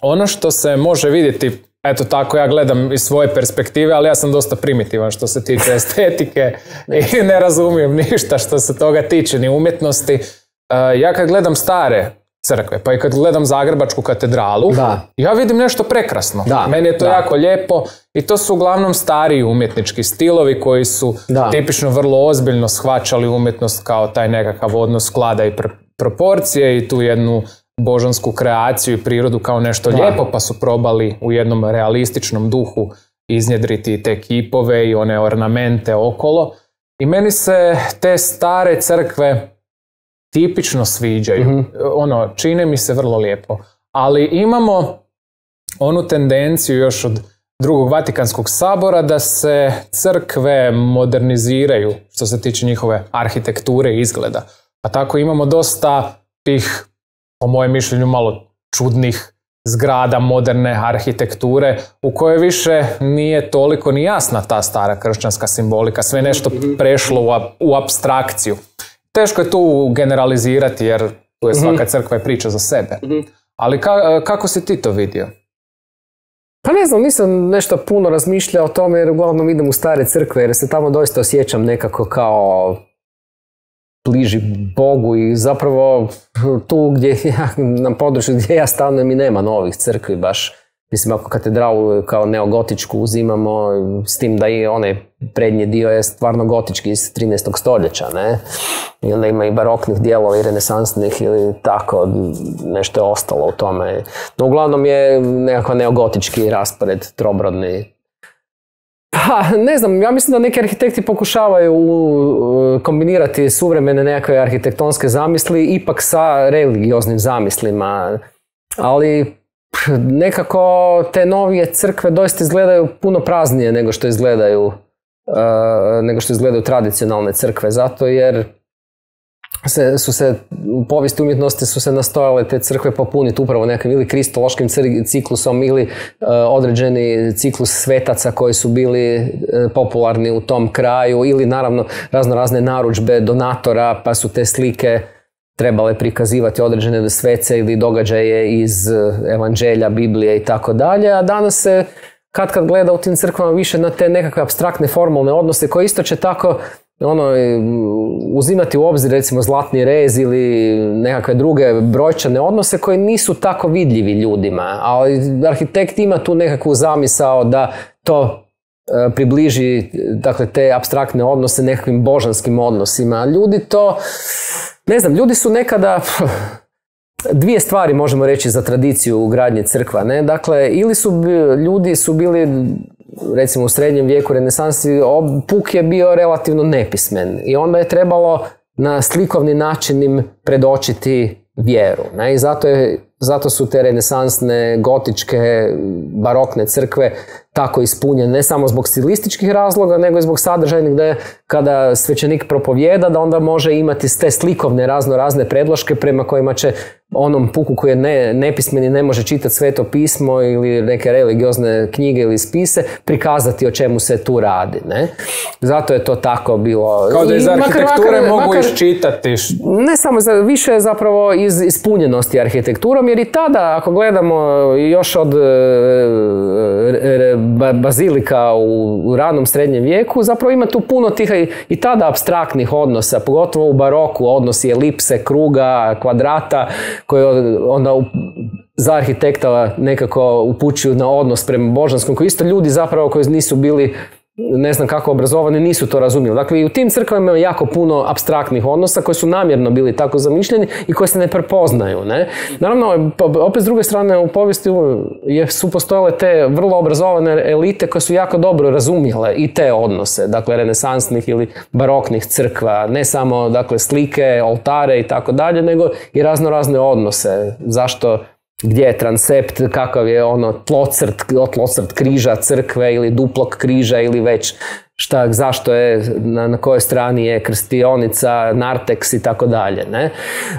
Ono što se može vidjeti, eto tako ja gledam iz svoje perspektive, ali ja sam dosta primitivan što se tiče estetike i ne razumijem ništa što se toga tiče, ni umjetnosti. Ja kad gledam stare crkve, pa i kad gledam Zagrebačku katedralu, ja vidim nešto prekrasno. Meni je to jako lijepo i to su uglavnom stariji umjetnički stilovi koji su tipično vrlo ozbiljno shvaćali umjetnost kao taj nekakav odnos sklada i proporcije i tu jednu božansku kreaciju i prirodu kao nešto lijepo, pa su probali u jednom realističnom duhu iznjedriti te kipove i one ornamente okolo. I meni se te stare crkve tipično sviđaju. Čine mi se vrlo lijepo. Ali imamo onu tendenciju još od Drugog Vatikanskog sabora da se crkve moderniziraju što se tiče njihove arhitekture i izgleda. Pa tako imamo dosta tih, po mojem mišljenju, malo čudnih zgrada moderne arhitekture u kojoj više nije toliko ni jasna ta stara kršćanska simbolika. Sve nešto prešlo u apstrakciju. Teško je tu generalizirati jer tu je svaka crkva i priča za sebe. Ali kako si ti to vidio? Pa ne znam, nisam nešto puno razmišljao o tome jer uglavnom idem u stare crkve jer se tamo doista osjećam nekako kao bliži Bogu i zapravo tu gdje na području gdje ja stanujem i nema novih crkvi baš. Mislim, ako katedralu kao neogotičku uzimamo, s tim da i onaj prednji dio je stvarno gotički iz 13. stoljeća, ne? I onda ima i baroknih dijelova i renesansnih ili tako, nešto je ostalo u tome. No, uglavnom je nekako neogotički raspored, trobrodni. Pa, ne znam, ja mislim da neki arhitekti pokušavaju kombinirati suvremene nekakve arhitektonske zamisli ipak sa religioznim zamislima, ali nekako te novije crkve doista izgledaju puno praznije nego što izgledaju tradicionalne crkve, zato jer u povijesti umjetnosti su se nastojale te crkve popuniti upravo nekim ili kristološkim ciklusom ili određeni ciklus svetaca koji su bili popularni u tom kraju ili naravno razne narudžbe donatora pa su te slike trebale prikazivati određene svece ili događaje iz evanđelja, Biblije i tako dalje, a danas se kad gleda u tim crkvama više na te nekakve apstraktne formalne odnose koje isto će tako uzimati u obzir recimo zlatni rez ili nekakve druge brojčane odnose koji nisu tako vidljivi ljudima, ali arhitekt ima tu nekakvu zamisao da to približi, dakle, te apstraktne odnose nekakvim božanskim odnosima. Ljudi to, ne znam, ljudi su nekada, dvije stvari možemo reći za tradiciju u gradnji crkva, ne? Dakle, ili ljudi su bili, recimo u srednjem vijeku, renesansi, puk je bio relativno nepismen i onda je trebalo na slikovni način im predočiti vjeru, ne? I zato su te renesansne, gotičke, barokne crkve tako ispunjene, ne samo zbog stilističkih razloga, nego i zbog sadržajnih, da kada svećenik propovijeda, da onda može imati te slikovne razne predloške prema kojima će onom puku koji je nepismen i ne može čitati Sveto pismo ili neke religiozne knjige ili spise, prikazati o čemu se tu radi, ne? Zato je to tako bilo. Kao da iz arhitekture mogu iščitati. Ne samo, više je zapravo iz ispunjenosti arhitekturom, jer i tada, ako gledamo još od bazilika u ranom srednjem vijeku, zapravo ima tu puno tih i tada apstraktnih odnosa, pogotovo u baroku, odnosi elipse, kruga, kvadrata, koji onda za arhitekta nekako upućuju na odnos prema božanskom, koji isto ljudi zapravo koji nisu bili ne znam kako obrazovani, nisu to razumjeli. Dakle, i u tim crkvama ima jako puno apstraktnih odnosa koji su namjerno bili tako zamišljeni i koji se ne prepoznaju, ne? Naravno, opet s druge strane, u povijesti su postojale te vrlo obrazovane elite koje su jako dobro razumjele i te odnose, dakle, renesansnih ili baroknih crkva, ne samo, dakle, slike, oltare i tako dalje, nego i razne odnose. Zašto, gdje je transept, kakav je tlocrt križa crkve ili duplog križa ili već zašto je, na kojoj strani je krstionica, narteks i tako dalje, ne?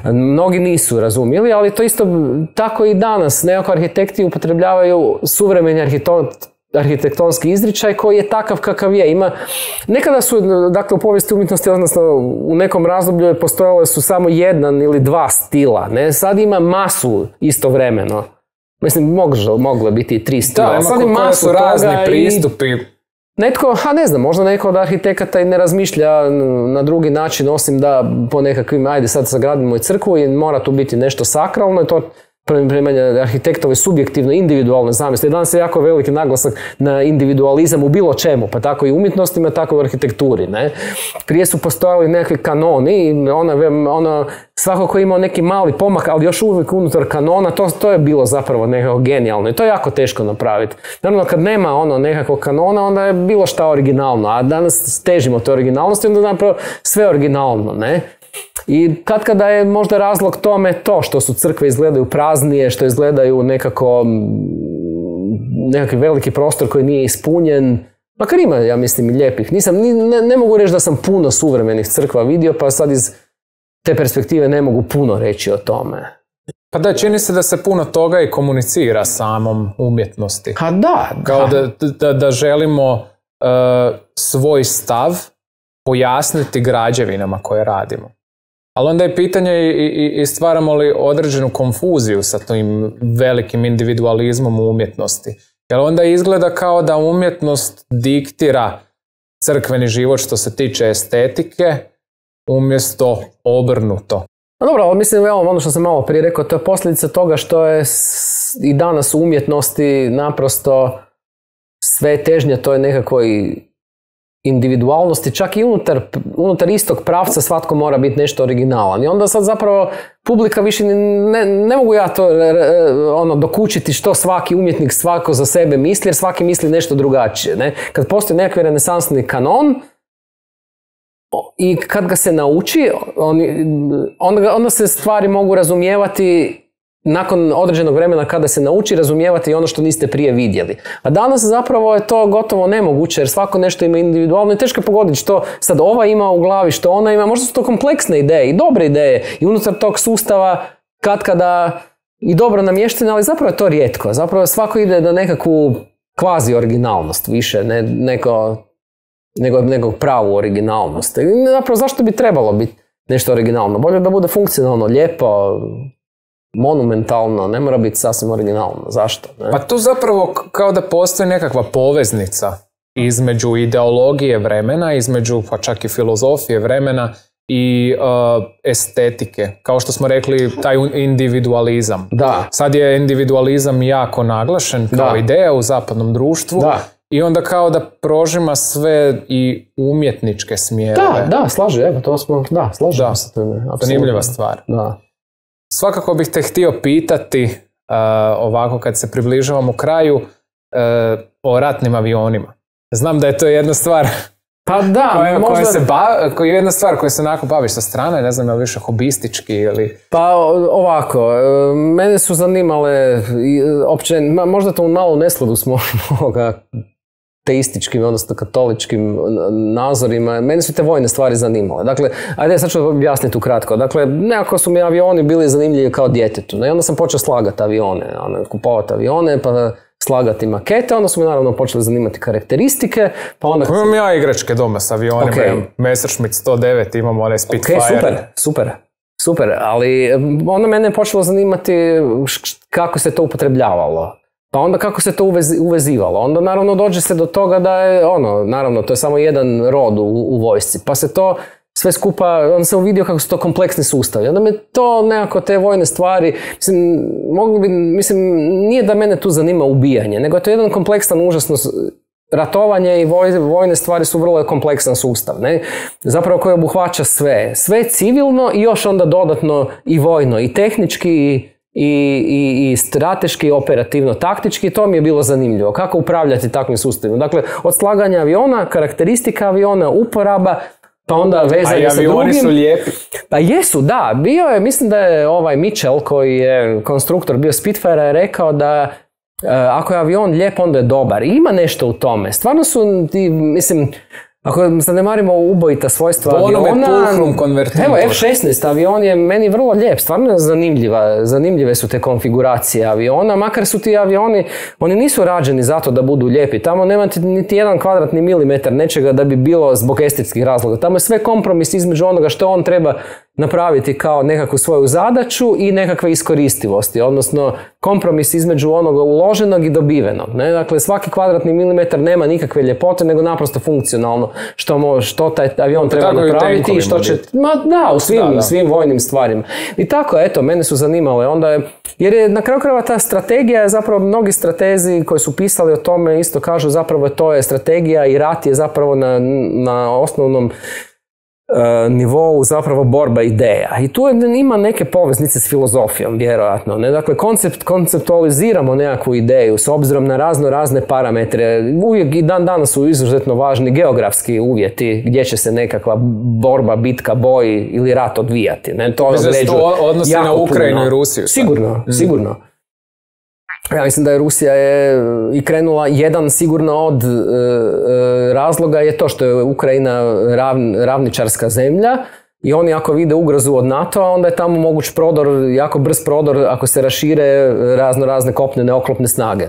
Mnogi nisu razumjeli, ali to isto tako i danas. Nekako arhitekti upotrebljavaju suvremeni arhitektonski izričaj koji je takav kakav je. Nekada su, dakle, u povijesti umjetnosti, odnosno u nekom razdoblju postojale su samo jedan ili dva stila, ne? Sad ima masu istovremeno. Mislim, moglo biti i 3 stila. Da, sad ima masu razni pristupi. Možda neko od arhitekata i ne razmišlja na drugi način, osim da po nekakvim, ajde sad sagradimo i crkvu i mora tu biti nešto sakralno i to prema arhitektove subjektivno, individualne zamisli. Danas je jako veliki naglasak na individualizam u bilo čemu, pa tako i u umjetnostima, tako i u arhitekturi. Ne? Prije su postojali nekakvi kanoni, svako ko je imao neki mali pomak, ali još uvijek unutar kanona, to je bilo zapravo nekako genijalno i to je jako teško napraviti. Naravno, kad nema nekakvog kanona, onda je bilo šta originalno, a danas težimo te originalnosti, onda napravo sve originalno, ne? I kada je možda razlog tome to što su crkve izgledaju praznije, što izgledaju nekakvi veliki prostor koji nije ispunjen, makar ima, ja mislim, i lijepih. Ne mogu reći da sam puno suvremenih crkva vidio, pa sad iz te perspektive ne mogu puno reći o tome. Pa da, čini se da se puno toga i komunicira samom umjetnosti. Ha da. Kao da želimo svoj stav pojasniti građevinama koje radimo. Ali onda je pitanje i stvaramo li određenu konfuziju sa tim velikim individualizmom u umjetnosti. Jer onda izgleda kao da umjetnost diktira crkveni život što se tiče estetike, umjesto obrnuto. Dobro, ali mislim, ono što sam malo prije rekao, to je posljedica toga što je i danas u umjetnosti naprosto sve težnja toj nekakvoj individualnosti, čak i unutar istog pravca svatko mora biti nešto originalan. I onda sad zapravo publika više ne mogu ja to dokučiti što svaki umjetnik svako za sebe misli, jer svaki misli nešto drugačije. Ne? Kad postoji nekakvi renesansni kanon i kad ga se nauči, onda se stvari mogu razumijevati nakon određenog vremena kada se nauči razumijevati ono što niste prije vidjeli. A danas zapravo je to gotovo nemoguće jer svako nešto ima individualno i teško je pogoditi što sad ova ima u glavi, što ona ima. Možda su to kompleksne ideje i dobre ideje i unutar tog sustava kada i dobro namještene, ali zapravo je to rijetko. Zapravo svako ide na nekakvu kvazi originalnost više, nego pravu originalnost. I zapravo zašto bi trebalo biti nešto originalno? Bolje da bude funkcionalno, lijepo, monumentalno, ne mora biti sasvim originalno. Zašto? Ne? Pa tu zapravo kao da postoji nekakva poveznica između ideologije vremena, između pa čak i filozofije vremena i estetike. Kao što smo rekli, taj individualizam. Da. Sad je individualizam jako naglašen kao ideja u zapadnom društvu. Da. I onda kao da prožima sve i umjetničke smjerove. Da, slažem se tome. Zanimljiva stvar. Da. Svakako bih te htio pitati, ovako kad se približavamo kraju, o ratnim avionima. Znam da je to jedna stvar pa da, koja je jedna stvar koju se onako baviš sa strane, ne znam je li više hobistički ili... Pa ovako, mene su zanimale, možda to malo u neskladu s mojim teističkim, odnosno katoličkim nazorima. Mene su te vojne stvari zanimale. Dakle, ajde, sad ću objasniti ukratko. Dakle, nekako su mi avioni bili zanimljivi kao djetetu. I onda sam počeo slagati avione, kupovati avione, pa slagati makete, onda su me naravno počeli zanimati karakteristike. Pa onda... Imam ja igračke doma s avionima, Messerschmitt 109, imamo onaj Spitfire. Super, ali onda mene je počelo zanimati kako se to upotrebljavalo. Pa onda kako se to uvezivalo. Onda naravno dođe se do toga da je naravno to je samo jedan rod u vojsci. Pa se to sve skupa, onda sam uvidio kako su to kompleksni sustavi. Onda me to nekako te vojne stvari, nije da mene tu zanima ubijanje, nego je to jedan kompleksan, užasno ratovanje i vojne stvari su vrlo kompleksan sustav. Ne? Zapravo koji obuhvaća sve civilno i još onda dodatno i vojno i tehnički i strateški, operativno, taktički, to mi je bilo zanimljivo. Kako upravljati takvim sustavima. Dakle, od slaganja aviona, karakteristika aviona, uporaba, pa onda vezanje sa drugim. A avioni su lijepi. Pa jesu, da. Bio je, mislim da je Mitchell, koji je konstruktor bio Spitfire, je rekao da ako je avion lijep, onda je dobar. I ima nešto u tome. Stvarno su, ako zanemarimo ubojita svojstva aviona, evo F-16 avion je meni vrlo lijep, stvarno zanimljive su te konfiguracije aviona, makar su ti avioni, oni nisu rađeni zato da budu lijepi, tamo nema niti jedan kvadratni milimetar nečega da bi bilo zbog estetskih razloga, tamo je sve kompromis između onoga što on treba napraviti kao nekakvu svoju zadaću i nekakve iskoristivosti, odnosno kompromis između onoga uloženog i dobivenog. Ne? Dakle, svaki kvadratni milimetar nema nikakve ljepote, nego naprosto funkcionalno što taj avion treba napraviti i što će... U svim vojnim stvarima. I tako, eto, mene su zanimale. Onda jer je na kraju krajeva ta strategija, zapravo mnogi stratezi koji su pisali o tome isto kažu zapravo to je strategija i rat je zapravo na osnovnom nivou zapravo borba ideja. I tu ima neke poveznice s filozofijom, vjerojatno. Ne? Dakle, konceptualiziramo nekakvu ideju s obzirom na razne parametre. Uvijek i danas su izuzetno važni geografski uvjeti gdje će se nekakva borba, bitka, boj ili rat odvijati. Ne? To odnosi na Ukrajinu i Rusiju. Sigurno. Ja mislim da je Rusija i krenula, jedan sigurno od razloga je to što je Ukrajina ravničarska zemlja i oni ako vide ugrozu od NATO-a, onda je tamo moguć prodor, jako brz prodor ako se rašire razne kopnene oklopne snage.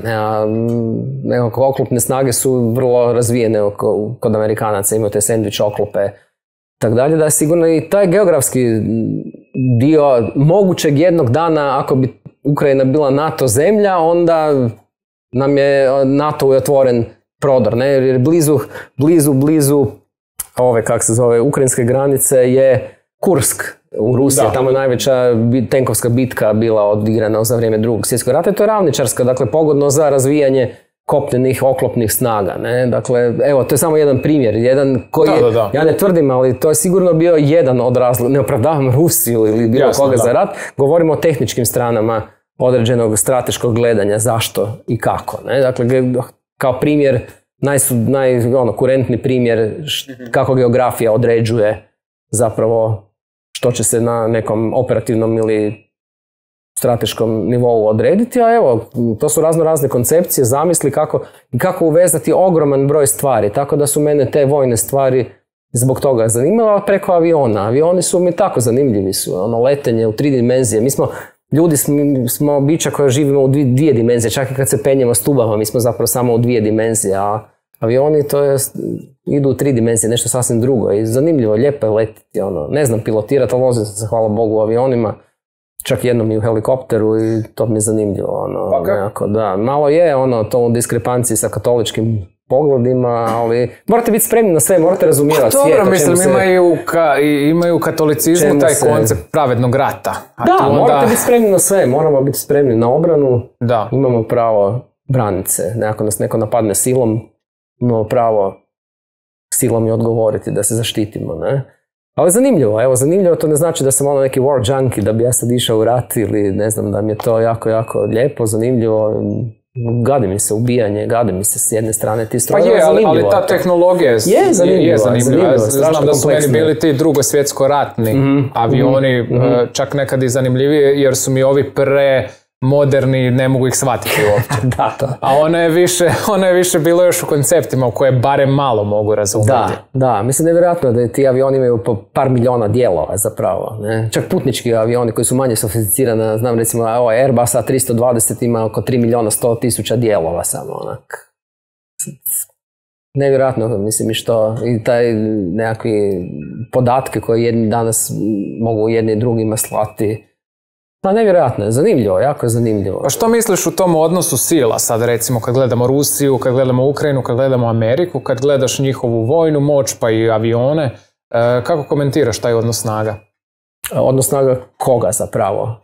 Nekako oklopne snage su vrlo razvijene kod Amerikanaca, imaju te sandvič oklope. Tako dalje, da je sigurno i taj geografski dio mogućeg jednog dana, ako bi Ukrajina bila NATO zemlja, onda nam je NATO otvoren prodor, ne? Jer blizu ove, kak se zove, ukrajinske granice je Kursk u Rusiji, tamo je najveća tenkovska bitka bila odigrana za vrijeme Drugog svjetskog rata i to je ravničarska, dakle pogodno za razvijanje kopnenih oklopnih snaga, ne? Dakle, evo, to je samo jedan primjer, jedan koji ja ne tvrdim, ali to je sigurno bio jedan od razloga, ne opravdavam Rusiju ili bilo koga za rat, govorimo o tehničkim stranama određenog strateškog gledanja, zašto i kako, ne? Dakle, kao primjer, kurentni primjer kako geografija određuje zapravo što će se na nekom operativnom ili strateškom nivou odrediti, a evo, to su razne koncepcije, zamisli kako uvezati ogroman broj stvari, tako da su mene te vojne stvari zbog toga zanimale, preko aviona. Avioni su mi tako zanimljivi su, letenje u 3 dimenzije. Mi ljudi smo bića koja živimo u 2 dimenzije, čak i kad se penjemo stubama, mi smo zapravo samo u 2 dimenzije, a avioni idu u 3 dimenzije, nešto sasvim drugo i zanimljivo, lijepo je letiti, ne znam pilotirati, ali vozim se, hvala Bogu, u avionima. Čak jednom i u helikopteru i to mi je zanimljivo. Nekako, da. Malo je to u diskrepanciji sa katoličkim pogledima, ali morate biti spremni na sve, morate razumijevati svijet. Dobro, mislim, imaju katolicizmu taj koncept pravednog rata. Morate biti spremni na sve, moramo biti spremni na obranu, imamo pravo braniti se. Ako nas neko napadne silom, imamo pravo silom i odgovoriti da se zaštitimo, ne? Ali zanimljivo, to ne znači da sam neki war junkie, da bi ja sad išao u rat ili ne znam, da mi je to jako, jako lijepo, zanimljivo, gadi mi se ubijanje, gadi mi se s jedne strane ti stroje. Ali ta tehnologija je zanimljiva. Znam da su meni bili ti drugosvjetsko-ratni avioni, čak nekad i zanimljivije, jer su mi ovi moderni, ne mogu ih shvatiti uopće. A ona je više bilo još u konceptima u koje barem malo mogu razumjeti. Da, mislim nevjerojatno da ti avioni imaju po par milijuna dijelova zapravo. Ne? Čak putnički avioni koji su manje sofisticirani, znam recimo Airbus A320 ima oko 3.100.000 dijelova samo onak. Nevjerojatno, mislim, i taj nekakvi podatke koje jedni danas mogu jedni i drugima slati. Nevjerojatno je, zanimljivo, jako je zanimljivo. A što misliš u tom odnosu sila sad, recimo, kad gledamo Rusiju, kad gledamo Ukrajinu, kad gledamo Ameriku, kad gledaš njihovu vojnu moć pa i avione, kako komentiraš taj odnos snaga? Odnos snaga koga zapravo?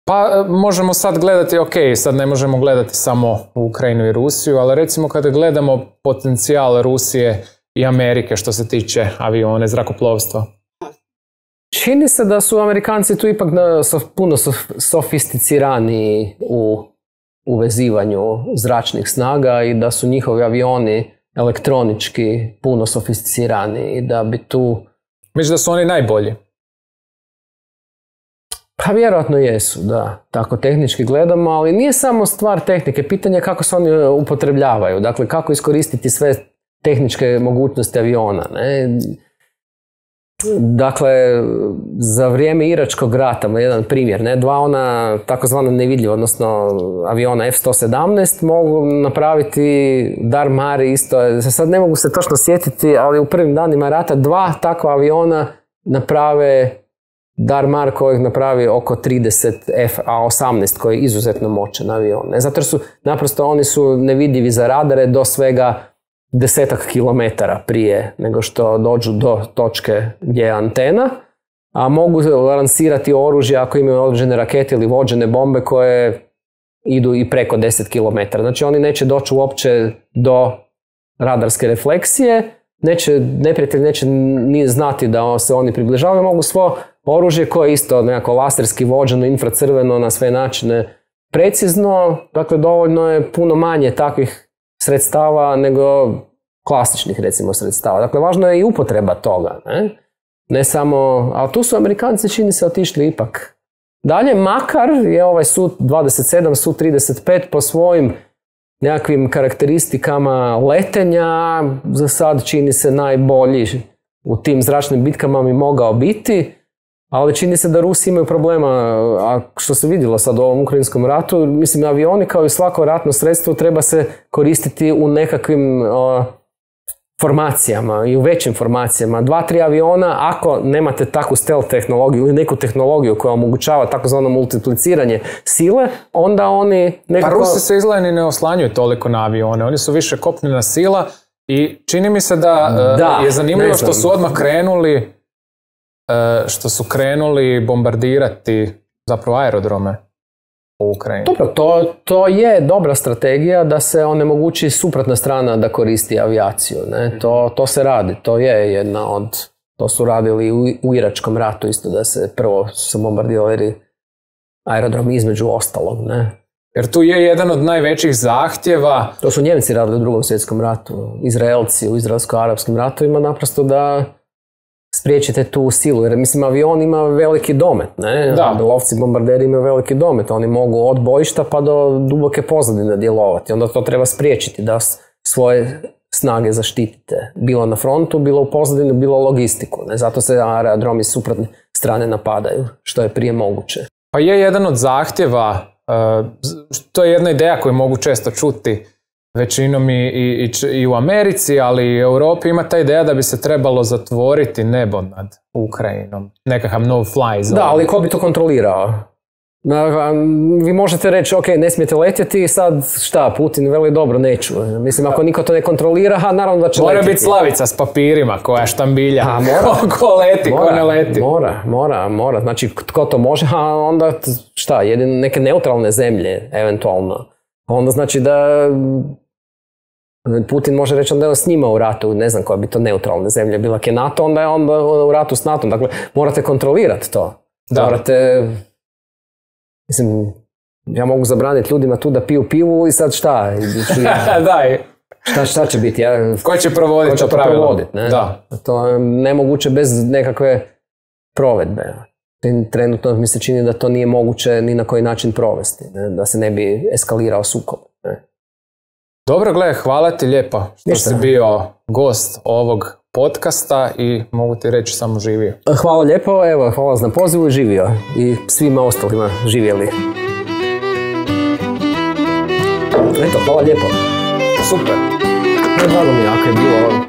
Pa možemo sad gledati, sad ne možemo gledati samo Ukrajinu i Rusiju, ali recimo kada gledamo potencijal Rusije i Amerike što se tiče avione, zrakoplovstva. Čini se da su Amerikanci tu ipak puno sofisticiraniji u vezivanju zračnih snaga i da su njihovi avioni elektronički puno sofisticiraniji i da bi tu... Misliš da su oni najbolji? Pa vjerojatno jesu, da. Tako tehnički gledamo, ali nije samo stvar tehnike. Pitanje je kako se oni upotrebljavaju. Dakle, kako iskoristiti sve tehničke mogućnosti aviona, ne? Dakle, za vrijeme Iračkog rata, jedan primjer, ne, 2 ona takozvana nevidljiva, odnosno aviona F-117 mogu napraviti Dar Mar isto, sad ne mogu se točno sjetiti, ali u prvim danima rata 2 takva aviona naprave Dar Mar kojeg napravi oko 30 F-A-18 koji je izuzetno moćan avion. Ne? Zato su, naprosto oni su nevidljivi za radare do svega 10 kilometara prije nego što dođu do točke gdje je antena, a mogu lansirati oružje ako imaju određene rakete ili vođene bombe koje idu i preko 10 km. Znači oni neće doći uopće do radarske refleksije, neprijatelj neće ni znati da se oni približavaju, mogu svo oružje koje je isto nekako laserski vođeno, infracrveno na sve načine precizno, dakle dovoljno je puno manje takvih sredstava nego klasičnih recimo sredstava. Dakle, važno je i upotreba toga, ne samo, ali tu su Amerikanci čini se otišli ipak dalje, makar je ovaj Su-27, Su-35 po svojim nekakvim karakteristikama letenja za sad čini se najbolji u tim zračnim bitkama mi mogao biti, ali čini se da Rusi imaju problema, a što se vidjelo sad u ovom ukrajinskom ratu, mislim avioni kao i svako ratno sredstvo treba se koristiti u nekakvim formacijama i u većim formacijama. 2-3 aviona, ako nemate takvu stealth tehnologiju ili neku tehnologiju koja omogućava takozvano multipliciranje sile, onda oni nekako... Pa Rusi se izgleda ni ne oslanjuju toliko na avione, oni su više kopnena sila i čini mi se da je zanimljivo što su odmah krenuli bombardirati zapravo aerodrome u Ukrajini. Dobro, to je dobra strategija da se onemogući suprotna strana da koristi avijaciju. Ne? To se radi, to je jedna od... To su radili u Iračkom ratu isto, da se prvo su bombardirali aerodrom između ostalog. Ne? Jer tu je jedan od najvećih zahtjeva... To su Njemci radili u Drugom svjetskom ratu, Izraelci u izraelsko-arapskim ratovima, naprosto da spriječite tu silu, jer mislim avion ima veliki domet, ne? Da. Lovci bombarderi imaju veliki domet, oni mogu od bojišta pa do duboke pozadine djelovati, onda to treba spriječiti da svoje snage zaštitite, bilo na frontu, bilo u pozadini, bilo logistiku, ne? Zato se aerodromi s suprotne strane napadaju, što je prije moguće. Pa je jedan od zahtjeva, to je jedna ideja koju mogu često čuti većinom i u Americi, ali i u Europi ima ta ideja da bi se trebalo zatvoriti nebo nad Ukrajinom. Nekakav no-fly zone. Da, ali ko bi to kontrolirao? Vi možete reći, ok, ne smijete letjeti, sad šta, Putin veli dobro, neću. Mislim, ako niko to ne kontrolira, naravno da će letjeti. Mora biti Slavica s papirima koja štambilja. Ko leti, ko ne leti. Mora. Znači, tko to može, a onda šta, jedine neke neutralne zemlje, eventualno. Onda znači da Putin može reći onda je s njima u ratu, ne znam koja bi to neutralne zemlje bila, je NATO, onda je onda u ratu s NATO. Dakle, morate kontrolirati to. Da. Morate, mislim, ja mogu zabraniti ljudima tu da piju pivu i sad šta? Šta će biti? Ko će provoditi to pravilo? Da. To je nemoguće bez nekakve provedbe. Trenutno mi se čini da to nije moguće ni na koji način provesti, ne? Da se ne bi eskalirao sukob. Ne? Dobro, gle, hvala ti lijepo što si bio gost ovog podcasta i mogu ti reći samo živio. Hvala lijepo, evo, hvala na pozivu i živio. I svima ostalima živjeli. Eto, hvala lijepo. Super. Drago mi jako je bilo